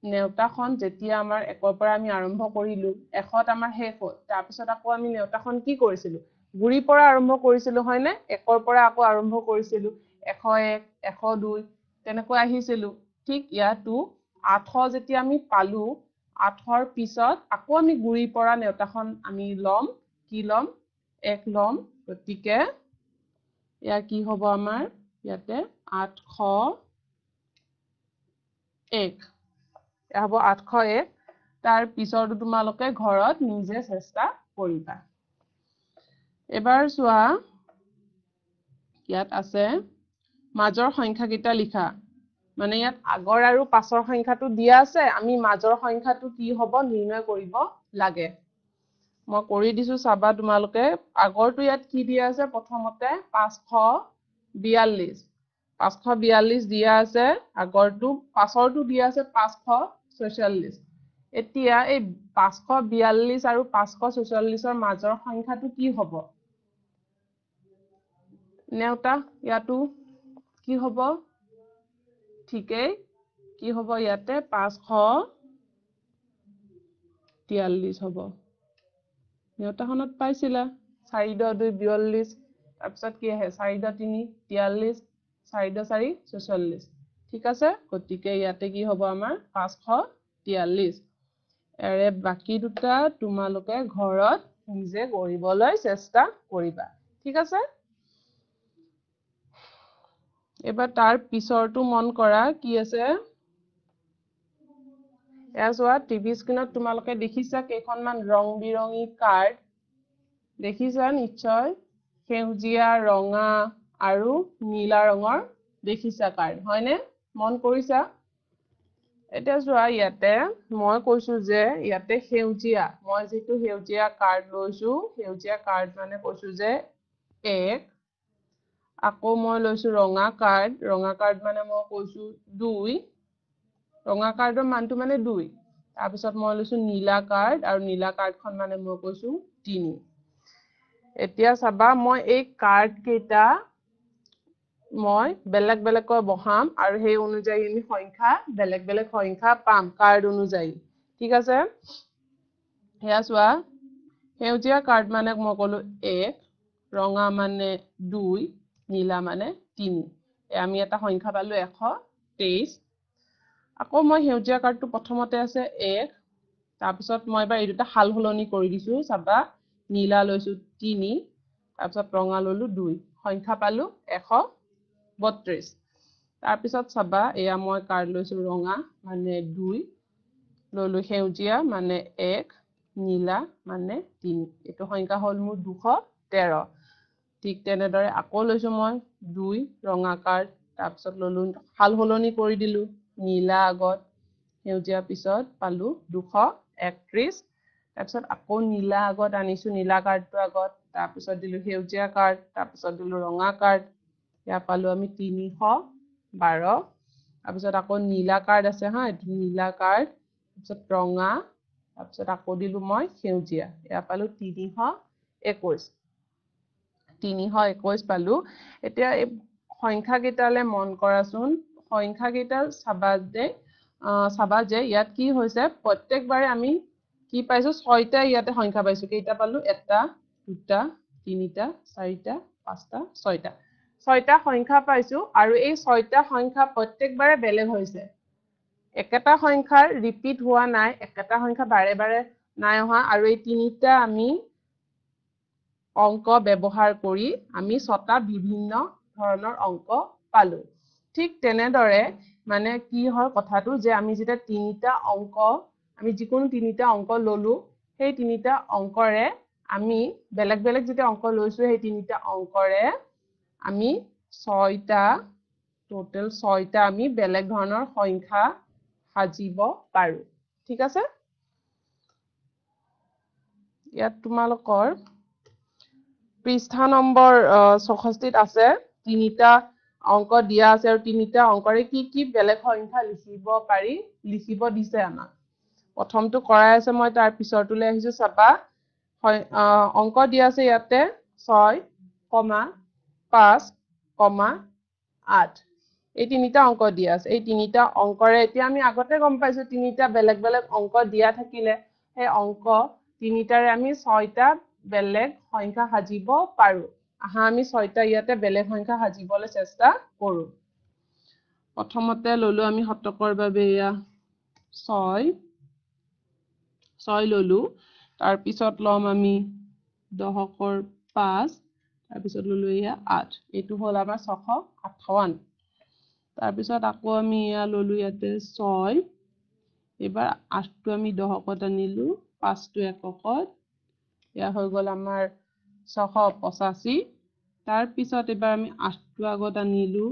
নেওতাখন যেতিয়া আমাৰ একৰ পৰা আমি আৰম্ভ কৰিলোঁ, এশত আমাৰ শেষ হ'ল, তাৰপিছত আকৌ আমি নেওতাখন কি কৰিছিলোঁ? গুৰিৰ পৰা আৰম্ভ কৰিছিলোঁ, হয়নে? একৰ পৰা আকৌ আৰম্ভ কৰিছিলোঁ, এশ এক, এশ দুই তেনেকৈ আহিছিলোঁ। ঠিক ইয়াতো আঠশ যেতিয়া আমি পালোঁ, আঠৰ পিছত আকৌ আমি গুৰিৰ পৰা নেওতাখন আমি ল'ম। কি ল'ম? এক ল'ম। গতিকে ইয়াৰ কি হ'ব আমাৰ? ইয়াতে আঠশ এক, এয়া হ'ব আঠশ এক। তাৰ পিছৰটো তোমালোকে ঘৰত নিজে চেষ্টা কৰিবা। এবাৰ চোৱা, ইয়াত আছে মাজৰ সংখ্যাকেইটা লিখা। মানে ইয়াত আগৰ আৰু পাছৰ সংখ্যাটো দিয়া আছে, আমি মাজৰ সংখ্যাটো কি হ'ব নিৰ্ণয় কৰিব লাগে। মই কৰি দিছো, চাবা তোমালোকে। আগৰটো ইয়াত কি দিয়া আছে? প্ৰথমতে পাঁচশ বিয়াল্লিছ, পাঁচশ বিয়াল্লিছ দিয়া আছে আগৰটো। পাছৰটো দিয়া আছে পাঁচশ ছয়চল্লিছ। এতিয়া এই পাঁচশ বিয়াল্লিছ আৰু পাঁচশ ছয়চল্লিছৰ মাজৰ সংখ্যাটো কি হ'ব? নেওতা ইয়াতো কি হ'ব? ঠিকেই, কি হ'ব ইয়াতে? পাঁচশ তিয়াল্লিছ হ'ব। নেওতাখনত পাইছিলা চাৰি দহ দুই বিয়াল্লিছ, তাৰপিছত কি আহে? চাৰি দহ তিনি তিয়াল্লিছ, চাৰি দহ চাৰি ছয়চল্লিছ। ঠিক আছে, গতিকে ইয়াতে কি হ'ব আমাৰ? পাঁচশ তিয়াল্লিছ। ইয়াৰে বাকী দুটা তোমালোকে ঘৰত নিজে কৰিবলৈ চেষ্টা কৰিবা। ঠিক আছে, এইবাৰ তাৰ পিছৰটো মন কৰা কি আছে। এয়া চোৱা, টিভি স্ক্ৰীণত তোমালোকে দেখিছা কেইখনমান ৰং বিৰঙী কাৰ্ড। দেখিছা নিশ্চয় সেউজীয়া, ৰঙা আৰু নীলা ৰঙৰ দেখিছা কাৰ্ড, হয়নে? মন কৰিছা? এতিয়া চোৱা, ইয়াতে মই কৈছো যে ইয়াতে সেউজীয়া, মই যিটো সেউজীয়া কাৰ্ড লৈছো, সেউজীয়া কাৰ্ড মানে কৈছো যে এক। আকৌ মই লৈছো ৰঙা কাৰ্ড, ৰঙা কাৰ্ড মানে মই কৈছো দুই, ৰঙা কাৰ্ডৰ মানটো মানে দুই। তাৰপিছত মই লৈছো নীলা কাৰ্ড, আৰু নীলা কাৰ্ডখন মানে মই কৈছো তিনি। এতিয়া চাবা, মই এই কাৰ্ড কেইটা মই বেলেগ বেলেগকৈ বহাম আৰু সেই অনুযায়ী আমি সংখ্যা বেলেগ বেলেগ সংখ্যা পাম কাৰ্ড অনুযায়ী, ঠিক আছে? সেয়া চোৱা, সেউজীয়া কাৰ্ড মানে মই ক'লো এক, ৰঙা মানে দুই, নীলা মানে তিনি। আমি এটা সংখ্যা পালো এশ তেইছ। আকৌ মই সেউজীয়া কাৰ্ডটো প্ৰথমতে আছে এক, তাৰপিছত মই এবাৰ এই দুটা সাল সলনি কৰি দিছো, চাবা, নীলা লৈছো তিনি, তাৰপিছত ৰঙা ললো দুই, সংখ্যা পালো এশ বত্ৰিছ। তাৰপিছত চাবা, এয়া মই কাৰ্ড লৈছো ৰঙা মানে দুই, ললো সেউজীয়া মানে এক, নীলা মানে তিনি, এইটো সংখ্যা হ'ল মোৰ দুশ তেৰ। ঠিক তেনেদৰে আকৌ লৈছো মই দুই ৰঙা কাৰ্ড, তাৰপিছত ললো সাল সলনি কৰি দিলো, নীলা আগত সেউজীয়া পিছত, পালো দুশ একত্ৰিছ। তাৰপিছত আকৌ নীলা আগত আনিছো, নীলা কাৰ্ডটো আগত, তাৰপিছত দিলো সেউজীয়া কাৰ্ড, তাৰপিছত দিলো ৰঙা কাৰ্ড, ইয়াৰ পালো আমি তিনিশ বাৰ। তাৰপিছত আকৌ নীলা কাৰ্ড আছে, হা, এইটো নীলা কাৰ্ড, তাৰপিছত ৰঙা, তাৰপিছত আকৌ দিলো মই সেউজীয়া, ইয়াৰ পালো তিনিশ একৈছ, তিনিশ একৈছ পালো। এতিয়া এই সংখ্যাকেইটালৈ মন কৰাচোন, সংখ্যাকেইটা চাবা যে, চাবা যে ইয়াত কি হৈছে, প্ৰত্যেকবাৰে আমি কি পাইছো, ছয়টা ইয়াতে সংখ্যা পাইছো। কেইটা পালো? এটা, দুটা, তিনিটা, চাৰিটা, পাঁচটা, ছয়টা, ছয়টা সংখ্যা পাইছো। আৰু এই ছয়টা সংখ্যা প্ৰত্যেকবাৰে বেলেগ হৈছে, একেটা সংখ্যাৰ ৰিপিট হোৱা নাই, একেটা সংখ্যা বাৰে বাৰে নাই অহা। আৰু এই তিনিটা আমি অংক ব্যৱহাৰ কৰি আমি ছটা বিভিন্ন ধৰণৰ অংক পালো। ঠিক তেনেদৰে মানে কি হয় কথাটো যে আমি যেতিয়া তিনিটা অংক, আমি যিকোনো তিনিটা অংক ললো, সেই তিনিটা অংকৰে আমি বেলেগ বেলেগ যেতিয়া অংক লৈছো, সেই তিনিটা অংকৰে আমি ছয়টা, টোটেল ছয়টা আমি বেলেগ ধৰণৰ সংখ্যা সাজিব পাৰো, ঠিক আছে? ইয়াত তোমালোকৰ পৃষ্ঠা নম্বৰ চৌষষ্ঠিত আছে, তিনিটা অংক দিয়া আছে আৰু তিনিটা অংকৰে কি কি বেলেগ সংখ্যা লিখিব পাৰি লিখিব দিছে আমাক। প্ৰথমটো কৰাই আছে, মই তাৰ পিছৰটোলৈ আহিছো। চাবা, অংক দিয়া আছে ইয়াতে ছয় কমা পাঁচ কমা আঠ, এই তিনিটা অংক দিয়া আছে। এই তিনিটা অংকৰে এতিয়া আমি আগতে গম পাইছো, তিনিটা বেলেগ বেলেগ অংক দিয়া থাকিলে সেই অংক তিনিটাৰে আমি ছয়টা বেলেগ সংখ্যা সাজিব পাৰো। আহা আমি ছয়টা ইয়াতে বেলেগ সংখ্যা সাজিবলৈ চেষ্টা কৰো। প্ৰথমতে ললো আমি শতকৰ বাবে এয়া ছয়, ছয় ললো। তাৰপিছত ল'ম আমি দহকৰ পাঁচ, তাৰপিছত ললো এয়া আঠ, এইটো হ'ল আমাৰ ছশ আঠাৱন্ন। তাৰপিছত আকৌ আমি এয়া ললো ইয়াতে ছয়, এইবাৰ আঠটো আমি দহকত আনিলো, পাঁচটো এককত, এয়া হৈ গ'ল আমাৰ ছশ পঁচাশী। তাৰপিছত এইবাৰ আমি আঠটো আগত আনিলো,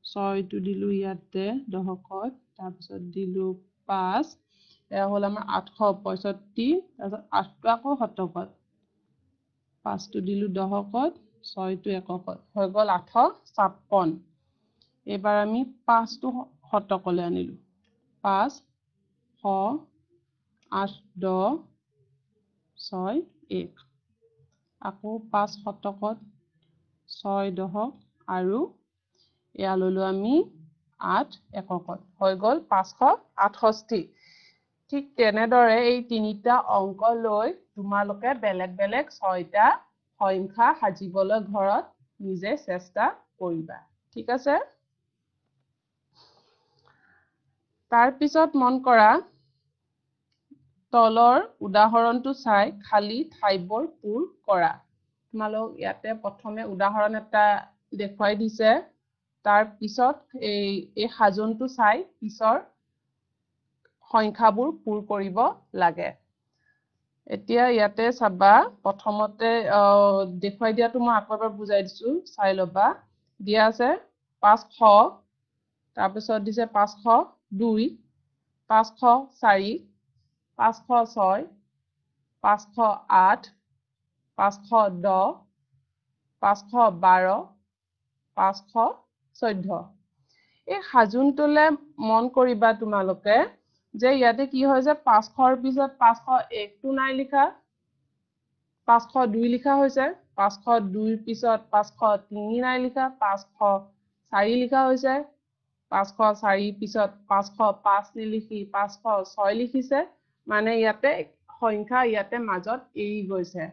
ছয়টো দিলো ইয়াতে দহকত, তাৰপিছত দিলো পাঁচ, এয়া হ'ল আমাৰ আঠশ পঁয়ষষ্ঠি। তাৰপিছত আঠটো আকৌ শতকত, পাঁচটো দিলো দহকত, ছয়টো এককত, হৈ গ'ল আঠশ ছাপন্ন। এইবাৰ আমি পাঁচটো শতকলৈ আনিলো, পাঁচ শ আঠ দহ ছয় এক, আকৌ পাঁচ শতকত ছয় দহক, আৰু এয়া ললো আমি আঠ এককত, হৈ গ'ল পাঁচশ আঠষষ্ঠি। ঠিক তেনেদৰে এই তিনিটা অংক লৈ তোমালোকে বেলেগ বেলেগ ছয়টা সংখ্যা সাজিবলৈ ঘৰত নিজে চেষ্টা কৰিবা, ঠিক আছে? তাৰপিছত মন কৰা, তলৰ উদাহৰণটো চাই খালী ঠাইবোৰ পূৰ কৰা। তোমালোক ইয়াতে প্ৰথমে উদাহৰণ এটা দেখুৱাই দিছে, তাৰ পিছত এই, এই সাজোনটো চাই পিছৰ সংখ্যাবোৰ পূৰ কৰিব লাগে। এতিয়া ইয়াতে চাবা, প্ৰথমতে দেখুৱাই দিয়াটো মই আকৌ এবাৰ বুজাই দিছোঁ, চাই ল'বা। দিয়া আছে পাঁচশ, তাৰপিছত দিছে পাঁচশ দুই, পাঁচশ চাৰি, পাঁচশ ছয়, পাঁচশ আঠ, পাঁচশ দহ, পাঁচশ বাৰ, পাঁচশ চৈধ্য। এই সাজোনটোলৈ মন কৰিবা তোমালোকে যে ইয়াতে কি হৈছে, পাঁচশৰ পিছত পাঁচশ একটো নাই লিখা, পাঁচশ দুই লিখা হৈছে, পাঁচশ দুইৰ পিছত পাঁচশ তিনি নাই লিখা, পাঁচশ চাৰি লিখা হৈছে, পাঁচশ চাৰিৰ পিছত পাঁচশ পাঁচ নিলিখি পাঁচশ ছয় লিখিছে। মানে ইয়াতে সংখ্যা ইয়াতে মাজত এৰি গৈছে,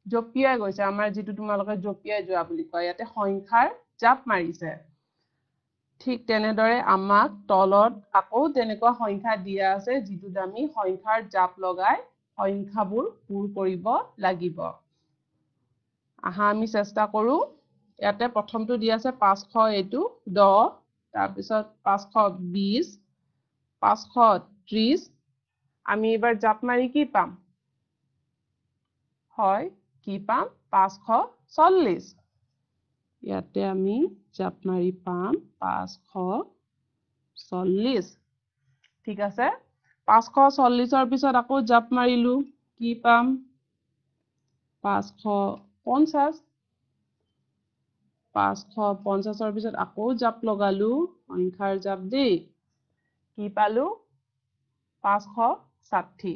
জঁপিয়াই গৈছে, আমাৰ যিটো তোমালোকে জঁপিয়াই যোৱা বুলি কয়, ইয়াতে সংখ্যাৰ জাপ মাৰিছে। ঠিক তেনেদৰে আমাক তলত আকৌ তেনেকুৱা সংখ্যা দিয়া আছে, যিটোত আমি সংখ্যাৰ জাপ লগাই সংখ্যাবোৰ পূৰ কৰিব লাগিব। আহা আমি চেষ্টা কৰোঁ। ইয়াতে প্ৰথমটো দিয়া আছে পাঁচশ, এইটো দহ, তাৰপিছত পাঁচশ বিছ, পাঁচশ ত্ৰিছ। আমি এইবাৰ জাপ মাৰি কি পাম? হয়, কি পাম? পাঁচশ চল্লিছ। ইয়াতে আমি জাপ মাৰি পাম পাঁচশ চল্লিছ। ঠিক আছে, পাঁচশ চল্লিছৰ পিছত আকৌ জাপ মাৰিলো, কি পাম? পাঁচশ পঞ্চাছ। পাঁচশ পঞ্চাছৰ পিছত আকৌ জাপ লগালো, সংখ্যাৰ জাপ দেই, কি পালো? পাঁচশ ষাঠি।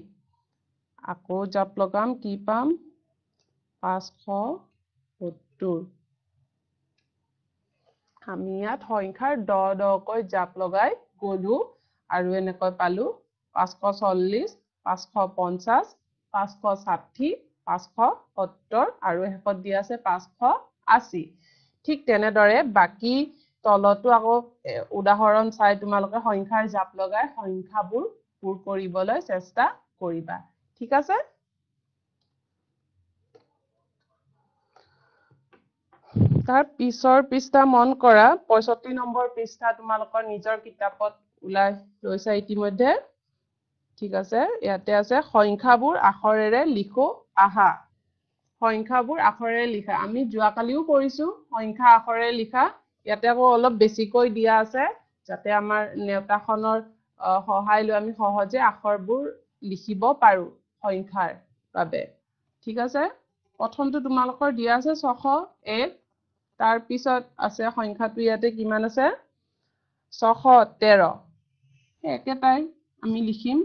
আকৌ জাপ লগাম, কি পাম? পাঁচশ সত্তৰ। আমি ইয়াত সংখ্যাৰ দহ দহকৈ জাপ লগাই গলো আৰু এনেকৈ পালো পাঁচশ চল্লিছ, পাঁচশ পঞ্চাছ, পাঁচশ ষাঠি, পাঁচশ সত্তৰ আৰু শেষত দিয়া আছে পাঁচশ আশী। ঠিক তেনেদৰে বাকী তলতো আকৌ উদাহৰণ চাই তোমালোকে সংখ্যাৰ জাপ লগাই সংখ্যাবোৰ পূৰ কৰিবলৈ চেষ্টা কৰিবা। ঠিক আছে, তাৰ পিছৰ পৃষ্ঠা মন কৰা, পঁয়ষষ্ঠি নম্বৰ পৃষ্ঠা তোমালোকৰ নিজৰ কিতাপত ওলাই লৈছা ইতিমধ্যে। ঠিক আছে, ইয়াতে আছে সংখ্যাবোৰ আখৰেৰে লিখো আহা। সংখ্যাবোৰ আখৰেৰে লিখা, আমি যোৱাকালিও কৰিছো সংখ্যা আখৰেৰে লিখা। ইয়াতে আকৌ অলপ বেছিকৈ দিয়া আছে, যাতে আমাৰ নেওতাখনৰ সহায় লৈ আমি সহজে আখৰবোৰ লিখিব পাৰো সংখ্যাৰ বাবে। ঠিক আছে, প্ৰথমটো তোমালোকৰ দিয়া আছে ছশ এক, তাৰ পিছত আছে সংখ্যাটো ইয়াতে কিমান আছে? ছশ তেৰ। সেই একেটাই আমি লিখিম।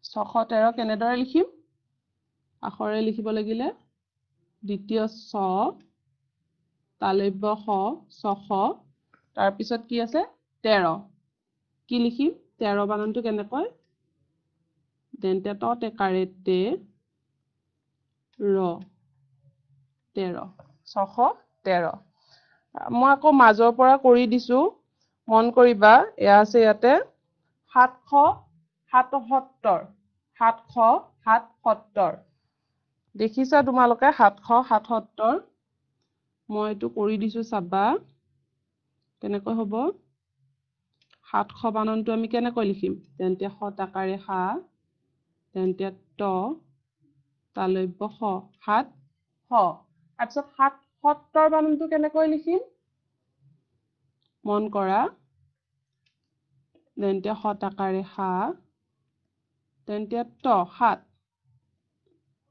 ছশ তেৰ কেনেদৰে লিখিম? আখৰে লিখিব লাগিলে দ্বিতীয় ছ, তালব্য শ, ছশ, তাৰপিছত কি আছে? তেৰ। কি লিখিম? তেৰ বানানটো কেনেকৈ? তেন্তে ত টেকাৰে তে ৰ, তেৰ, ছশ তেৰ। মই আকৌ মাজৰ পৰা কৰি দিছো, মন কৰিবা। এয়া আছে ইয়াতে সাতশ সাতসত্তৰ, সাতশ সাতসত্তৰ। দেখিছা তোমালোকে সাতশ সাতসত্তৰ? মই এইটো কৰি দিছো, চাবা কেনেকৈ হ'ব। সাতশ বানানটো আমি কেনেকৈ লিখিম? তেন্তে স টাকাৰে সা, তেন্তে ত, তালব্য শ, সাত শ। তাৰপিছত সাতসত্তৰ বানানটো কেনেকৈ লিখিম? মন কৰা, তেন্তে স টাকাৰে সা, তেন্তে ত, সাত,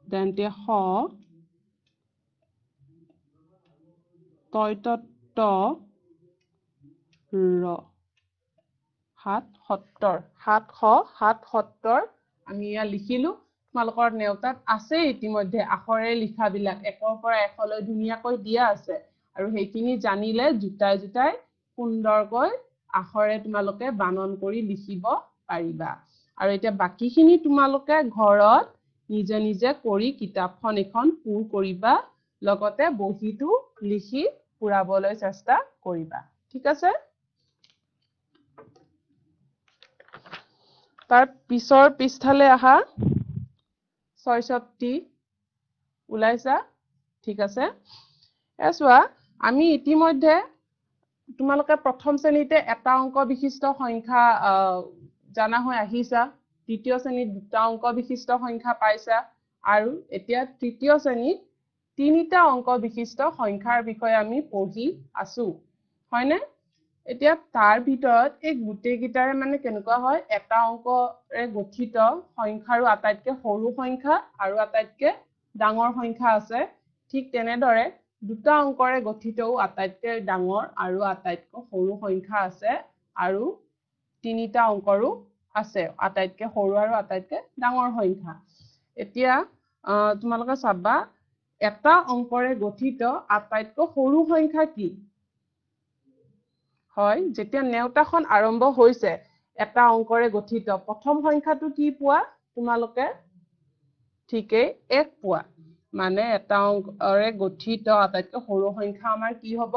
তেন্তে শ, তয় ত ত, ৰ, সাত সত্তৰ, সাতশ সাতসত্তৰ আমি ইয়াত লিখিলো। তোমালোকৰ নেওতাত আছে ইতিমধ্যে আখৰেৰে লিখাবিলাক, একৰ পৰা এশলৈ ধুনীয়াকৈ দিয়া আছে, আৰু সেইখিনি জানিলে জোতাই জোতাই সুন্দৰকৈ আখৰে তোমালোকে বানন কৰি লিখিব পাৰিবা। আৰু এতিয়া বাকীখিনি তোমালোকে ঘৰত নিজে নিজে কৰি কিতাপখন এখন পূৰ কৰিবা, লগতে বহীটো লিখি পুৰাবলৈ চেষ্টা কৰিবা। ঠিক আছে, তাৰ পিছৰ পৃষ্ঠালৈ আহা, ছয়ষষ্ঠি ওলাইছা। ঠিক আছে, এয়া চোৱা, আমি ইতিমধ্যে তোমালোকে প্ৰথম শ্ৰেণীতে এটা অংক বিশিষ্ট সংখ্যা জানা হৈ আহিছা, দ্বিতীয় শ্ৰেণীত দুটা অংক বিশিষ্ট সংখ্যা পাইছা, আৰু এতিয়া তৃতীয় শ্ৰেণীত তিনিটা অংক বিশিষ্ট সংখ্যাৰ বিষয়ে আমি পঢ়ি আছো, হয়নে? এতিয়া তাৰ ভিতৰত এই গোটেইকেইটাৰে মানে কেনেকুৱা হয়, এটা অংকৰে গঠিত সংখ্যাৰো আটাইতকৈ সৰু সংখ্যা আৰু আটাইতকৈ ডাঙৰ সংখ্যা আছে। ঠিক তেনেদৰে দুটা অংকৰে গঠিতও আটাইতকৈ ডাঙৰ আৰু আটাইতকৈ সৰু সংখ্যা আছে, আৰু তিনিটা অংকৰো আছে আটাইতকৈ সৰু আৰু আটাইতকৈ ডাঙৰ সংখ্যা। এতিয়া তোমালোকে চাবা, এটা অংকৰে গঠিত আটাইতকৈ সৰু সংখ্যা কি হয়? যেতিয়া নেওতাখন আৰম্ভ হৈছে এটা অংকৰে গঠিত প্ৰথম সংখ্যাটো কি পোৱা তোমালোকে? ঠিকেই, এক পোৱা। মানে এটা অংকৰে গঠিত আটাইতকৈ সৰু সংখ্যা আমাৰ কি হ'ব?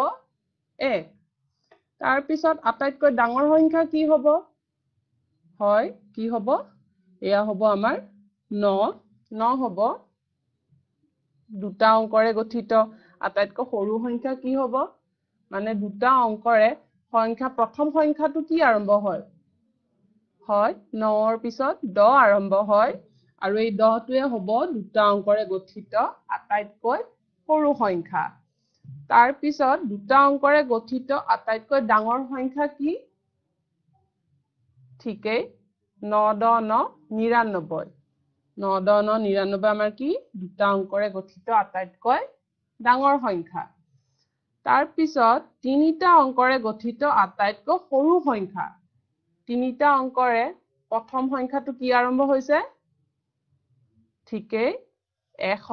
এক। তাৰপিছত আটাইতকৈ ডাঙৰ সংখ্যা কি হ'ব? হয়, কি হ'ব? এয়া হ'ব আমাৰ ন। ন হ'ব দুটা অংকৰে গঠিত আটাইতকৈ সৰু সংখ্যা কি হ'ব? মানে দুটা অংকৰে সংখ্যা প্ৰথম সংখ্যাটো কি আৰম্ভ হয়? হয়, নৰ পিছত দহ আৰম্ভ হয়, আৰু এই দহটোৱে হ'ব দুটা অংকৰে গঠিত আটাইতকৈ সৰু সংখ্যা। তাৰপিছত দুটা অংকৰে গঠিত আটাইতকৈ ডাঙৰ সংখ্যা কি? ঠিকেই, ন দহ ন নিৰান্নব্বৈ। ন দহ ন নিৰান্নব্বৈ আমাৰ কি? দুটা অংকৰে গঠিত আটাইতকৈ ডাঙৰ সংখ্যা। তাৰপিছত তিনিটা অংকৰে গঠিত আটাইতকৈ সৰু সংখ্যা। তিনিটা অংকৰে প্ৰথম সংখ্যাটো কি আৰম্ভ হৈছে? ঠিকেই, এশ।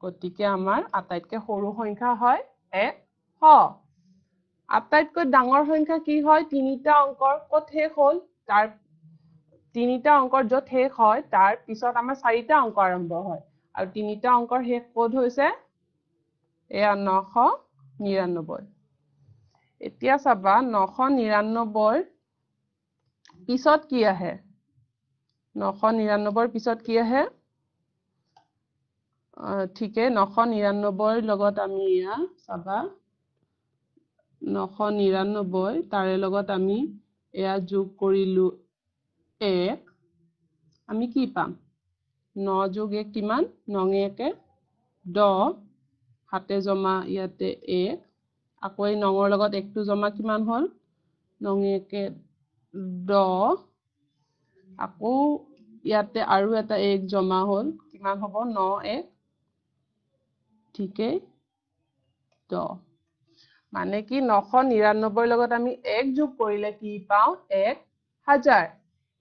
গতিকে আমাৰ আটাইতকৈ সৰু সংখ্যা হয় এশ। আটাইতকৈ ডাঙৰ সংখ্যা কি হয়? তিনিটা অংকৰ ক'ত শেষ হ'ল? তাৰ তিনিটা অংকৰ য'ত শেষ হয় তাৰ পিছত আমাৰ চাৰিটা অংক আৰম্ভ হয়, আৰু তিনিটা অংকৰ শেষ ক'ত হৈছে? এয়া নশ নিৰান্নব্বৈ। এতিয়া চাবা, নশ নিৰান্নব্বৈৰ পিছত কি আহে? নশ নিৰান্নব্বৈৰ পিছত কি আহে? ঠিকে, নশ নিৰান্নব্বৈৰ লগত আমি এয়া চাবা, নশ নিৰান্নব্বৈ তাৰে লগত আমি এয়া যোগ কৰিলো এক, আমি কি পাম? ন যোগ এক কিমান? নঙে একে দহ, হাতে জমা ইয়াতে এক, আকৌ এই নঙৰ লগত একটো জমা কিমান হ'ল? নঙে একে দহ, আকৌ ইয়াতে আৰু এটা এক জমা হ'ল, কিমান হ'ব? ন এক, ঠিকেই দহ। মানে কি, নশ নিৰান্নব্বৈৰ লগত আমি এক যোগ কৰিলে কি পাওঁ? এক হাজাৰ।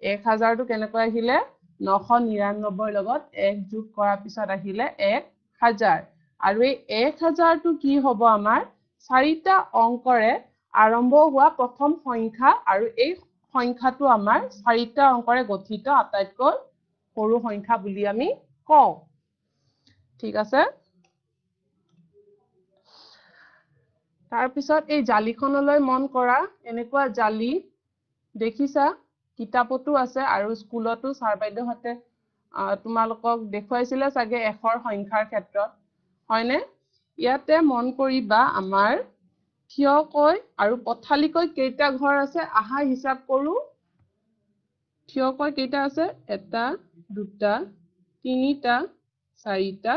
এক হাজাৰটো কেনেকৈ আহিলে? নশ নিৰান্নব্বৈৰ লগত এক যোগ কৰাৰ পিছত আহিলে এক হাজাৰ। আৰু এই এক হাজাৰটো কি হ'ব? আমাৰ চাৰিটা অংকৰে আৰম্ভ হোৱা প্ৰথম সংখ্যা, আৰু এই সংখ্যাটো আমাৰ চাৰিটা অংকৰে গঠিত আটাইতকৈ সৰু সংখ্যা বুলি আমি কওঁ। ঠিক আছে। তাৰপিছত এই জালিখনলৈ মন কৰা। এনেকুৱা জালি দেখিছা, কিতাপতো আছে আৰু স্কুলতো ছাৰ বাইদেউহঁতে তোমালোকক দেখুৱাইছিলে চাগে এশৰ সংখ্যাৰ ক্ষেত্ৰত, হয়নে? ইয়াতে মন কৰিবা, আমাৰ থিয়কৈ আৰু পথালিকৈ কেইটা ঘৰ আছে আহা হিচাপ কৰো। থিয়কৈ কেইটা আছে? এটা, দুটা, তিনিটা, চাৰিটা,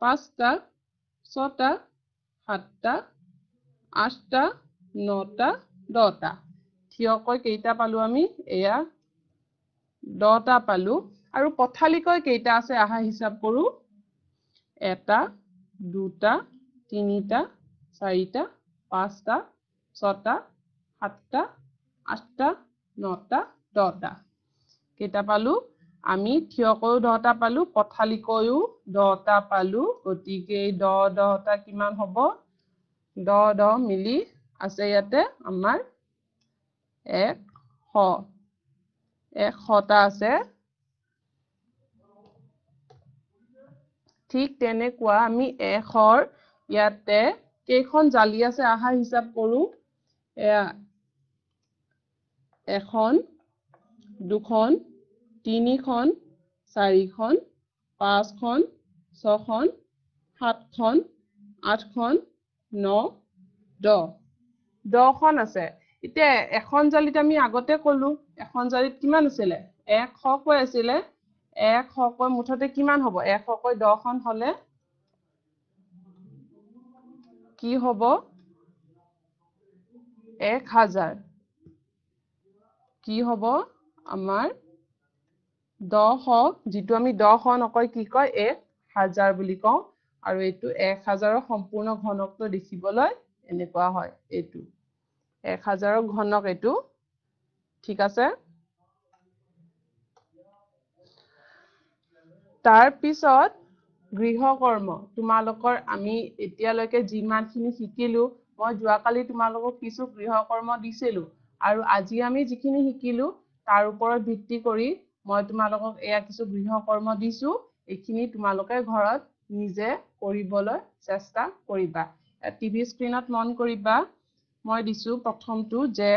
পাঁচটা, ছটা, সাতটা, আঠটা, নটা, দহটা। থিয়কৈ কেইটা পালো আমি? এয়া দহটা পালো। আৰু পথালিকৈ কেইটা আছে আহা হিচাপ কৰো। এটা, দুটা, তিনিটা, চাৰিটা, পাঁচটা, ছটা, সাতটা, আঠটা, নটা, দহটা। কেইটা পালো আমি? থিয়কৈও দহটা পালো, পথালিকৈও দহটা পালো। গতিকে এই দহ দহটা কিমান হ'ব? দহ দহ মিলি আছে ইয়াতে আমাৰ এশ, এশটা আছে। ঠিক তেনেকুৱা আমি এশৰ ইয়াতে কেইখন জালি আছে আহা হিচাপ কৰো। এয়া এখন, দুখন, তিনিখন, চাৰিখন, পাঁচখন, ছখন, সাতখন, আঠখন, ন, দহ। দহখন আছে। এতিয়া এখন জালিত আমি আগতে কলো, এখন জালিত কিমান আছিলে? এশকৈ আছিলে। এশকৈ মুঠতে কিমান হ'ব? এশকৈ দহখন হ'লে কি হ'ব? এক হাজাৰ। কি হ'ব আমাৰ দহ, যিটো আমি দহ নকয় কি কয়? এক হাজাৰ বুলি কওঁ। আৰু এইটো এক হাজাৰৰ সম্পূৰ্ণ ঘনকটো দেখিবলৈ এনেকুৱা হয়, এইটো এক হাজাৰৰ ঘনক এইটো। ঠিক আছে। তাৰপিছত গৃহকৰ্ম, তোমালোকৰ আমি এতিয়ালৈকে যিমানখিনি শিকিলো, মই যোৱাকালি তোমালোকক কিছু গৃহকৰ্ম দিছিলো আৰু আজি আমি যিখিনি শিকিলো তাৰ ওপৰত ভিত্তি কৰি মই তোমালোকক এয়া কিছু গৃহকৰ্ম দিছো। এইখিনি তোমালোকে ঘৰত নিজে কৰিবলৈ চেষ্টা কৰিবা। টিভি স্ক্ৰীণত মন কৰিবা, মই দিছো প্ৰথমটো যে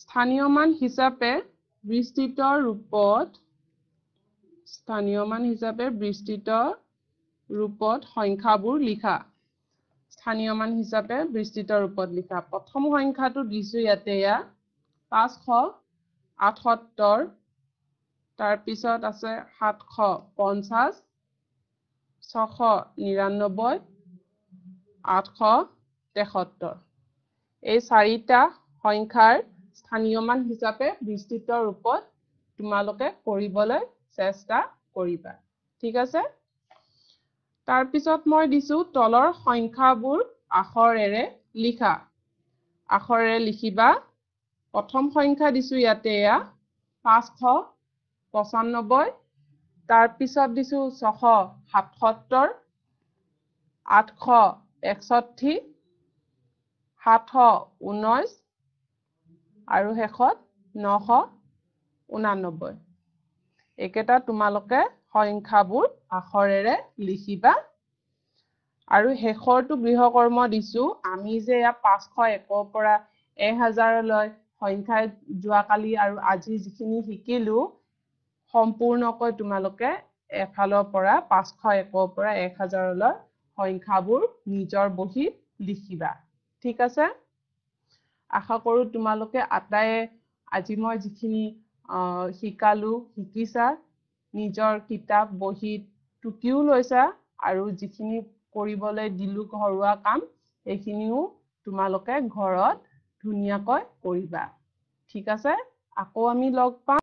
স্থানীয় মান হিচাপে বিস্তৃত ৰূপত, স্থানীয় মান হিচাপে বিস্তৃত ৰূপত সংখ্যাবোৰ লিখা। স্থানীয় মান হিচাপে বিস্তৃত ৰূপত লিখা। প্ৰথম সংখ্যাটো দিছো ইয়াতে, এয়া পাঁচশ আঠসত্তৰ, তাৰপিছত আছে সাতশ পঞ্চাছ, ছশ নিৰান্নব্বৈ, আঠশ তেসত্তৰ। এই চাৰিটা সংখ্যাৰ স্থানীয় মান হিচাপে বিস্তৃত ৰূপত তোমালোকে কৰিবলৈ চেষ্টা কৰিবা। ঠিক আছে। তাৰপিছত মই দিছো তলৰ সংখ্যাবোৰ আখৰেৰে লিখা। আখৰেৰে লিখিবা। প্ৰথম সংখ্যা দিছো ইয়াতে এয়া পাঁচশ পঁচান্নব্বৈ, তাৰপিছত দিছো ছশ সাতসত্তৰ, আঠশ একষষ্ঠি, সাতশ ঊনৈছ আৰু শেষত নশ ঊনানব্বৈ। এইকেইটা তোমালোকে সংখ্যাবোৰ আখৰেৰে লিখিবা। আৰু শেষৰটো গৃহকৰ্ম দিছো, আমি যে ইয়াত পাঁচশ একৰ পৰা এক হাজাৰলৈ সংখ্যা যোৱাকালি আৰু আজি যিখিনি শিকিলো, সম্পূৰ্ণকৈ তোমালোকে এফালৰ পৰা পাঁচশ একৰ পৰা এক হাজাৰলৈ সংখ্যাবোৰ নিজৰ বহীত লিখিবা। ঠিক আছে। আশা কৰোঁ তোমালোকে আটাইয়ে আজি মই যিখিনি শিকালো শিকিছা, নিজৰ কিতাপ বহীত টুকিও লৈছা আৰু যিখিনি কৰিবলৈ দিলো ঘৰুৱা কাম সেইখিনিও তোমালোকে ঘৰত ধুনীয়াকৈ কৰিবা। ঠিক আছে, আকৌ আমি লগ পাম।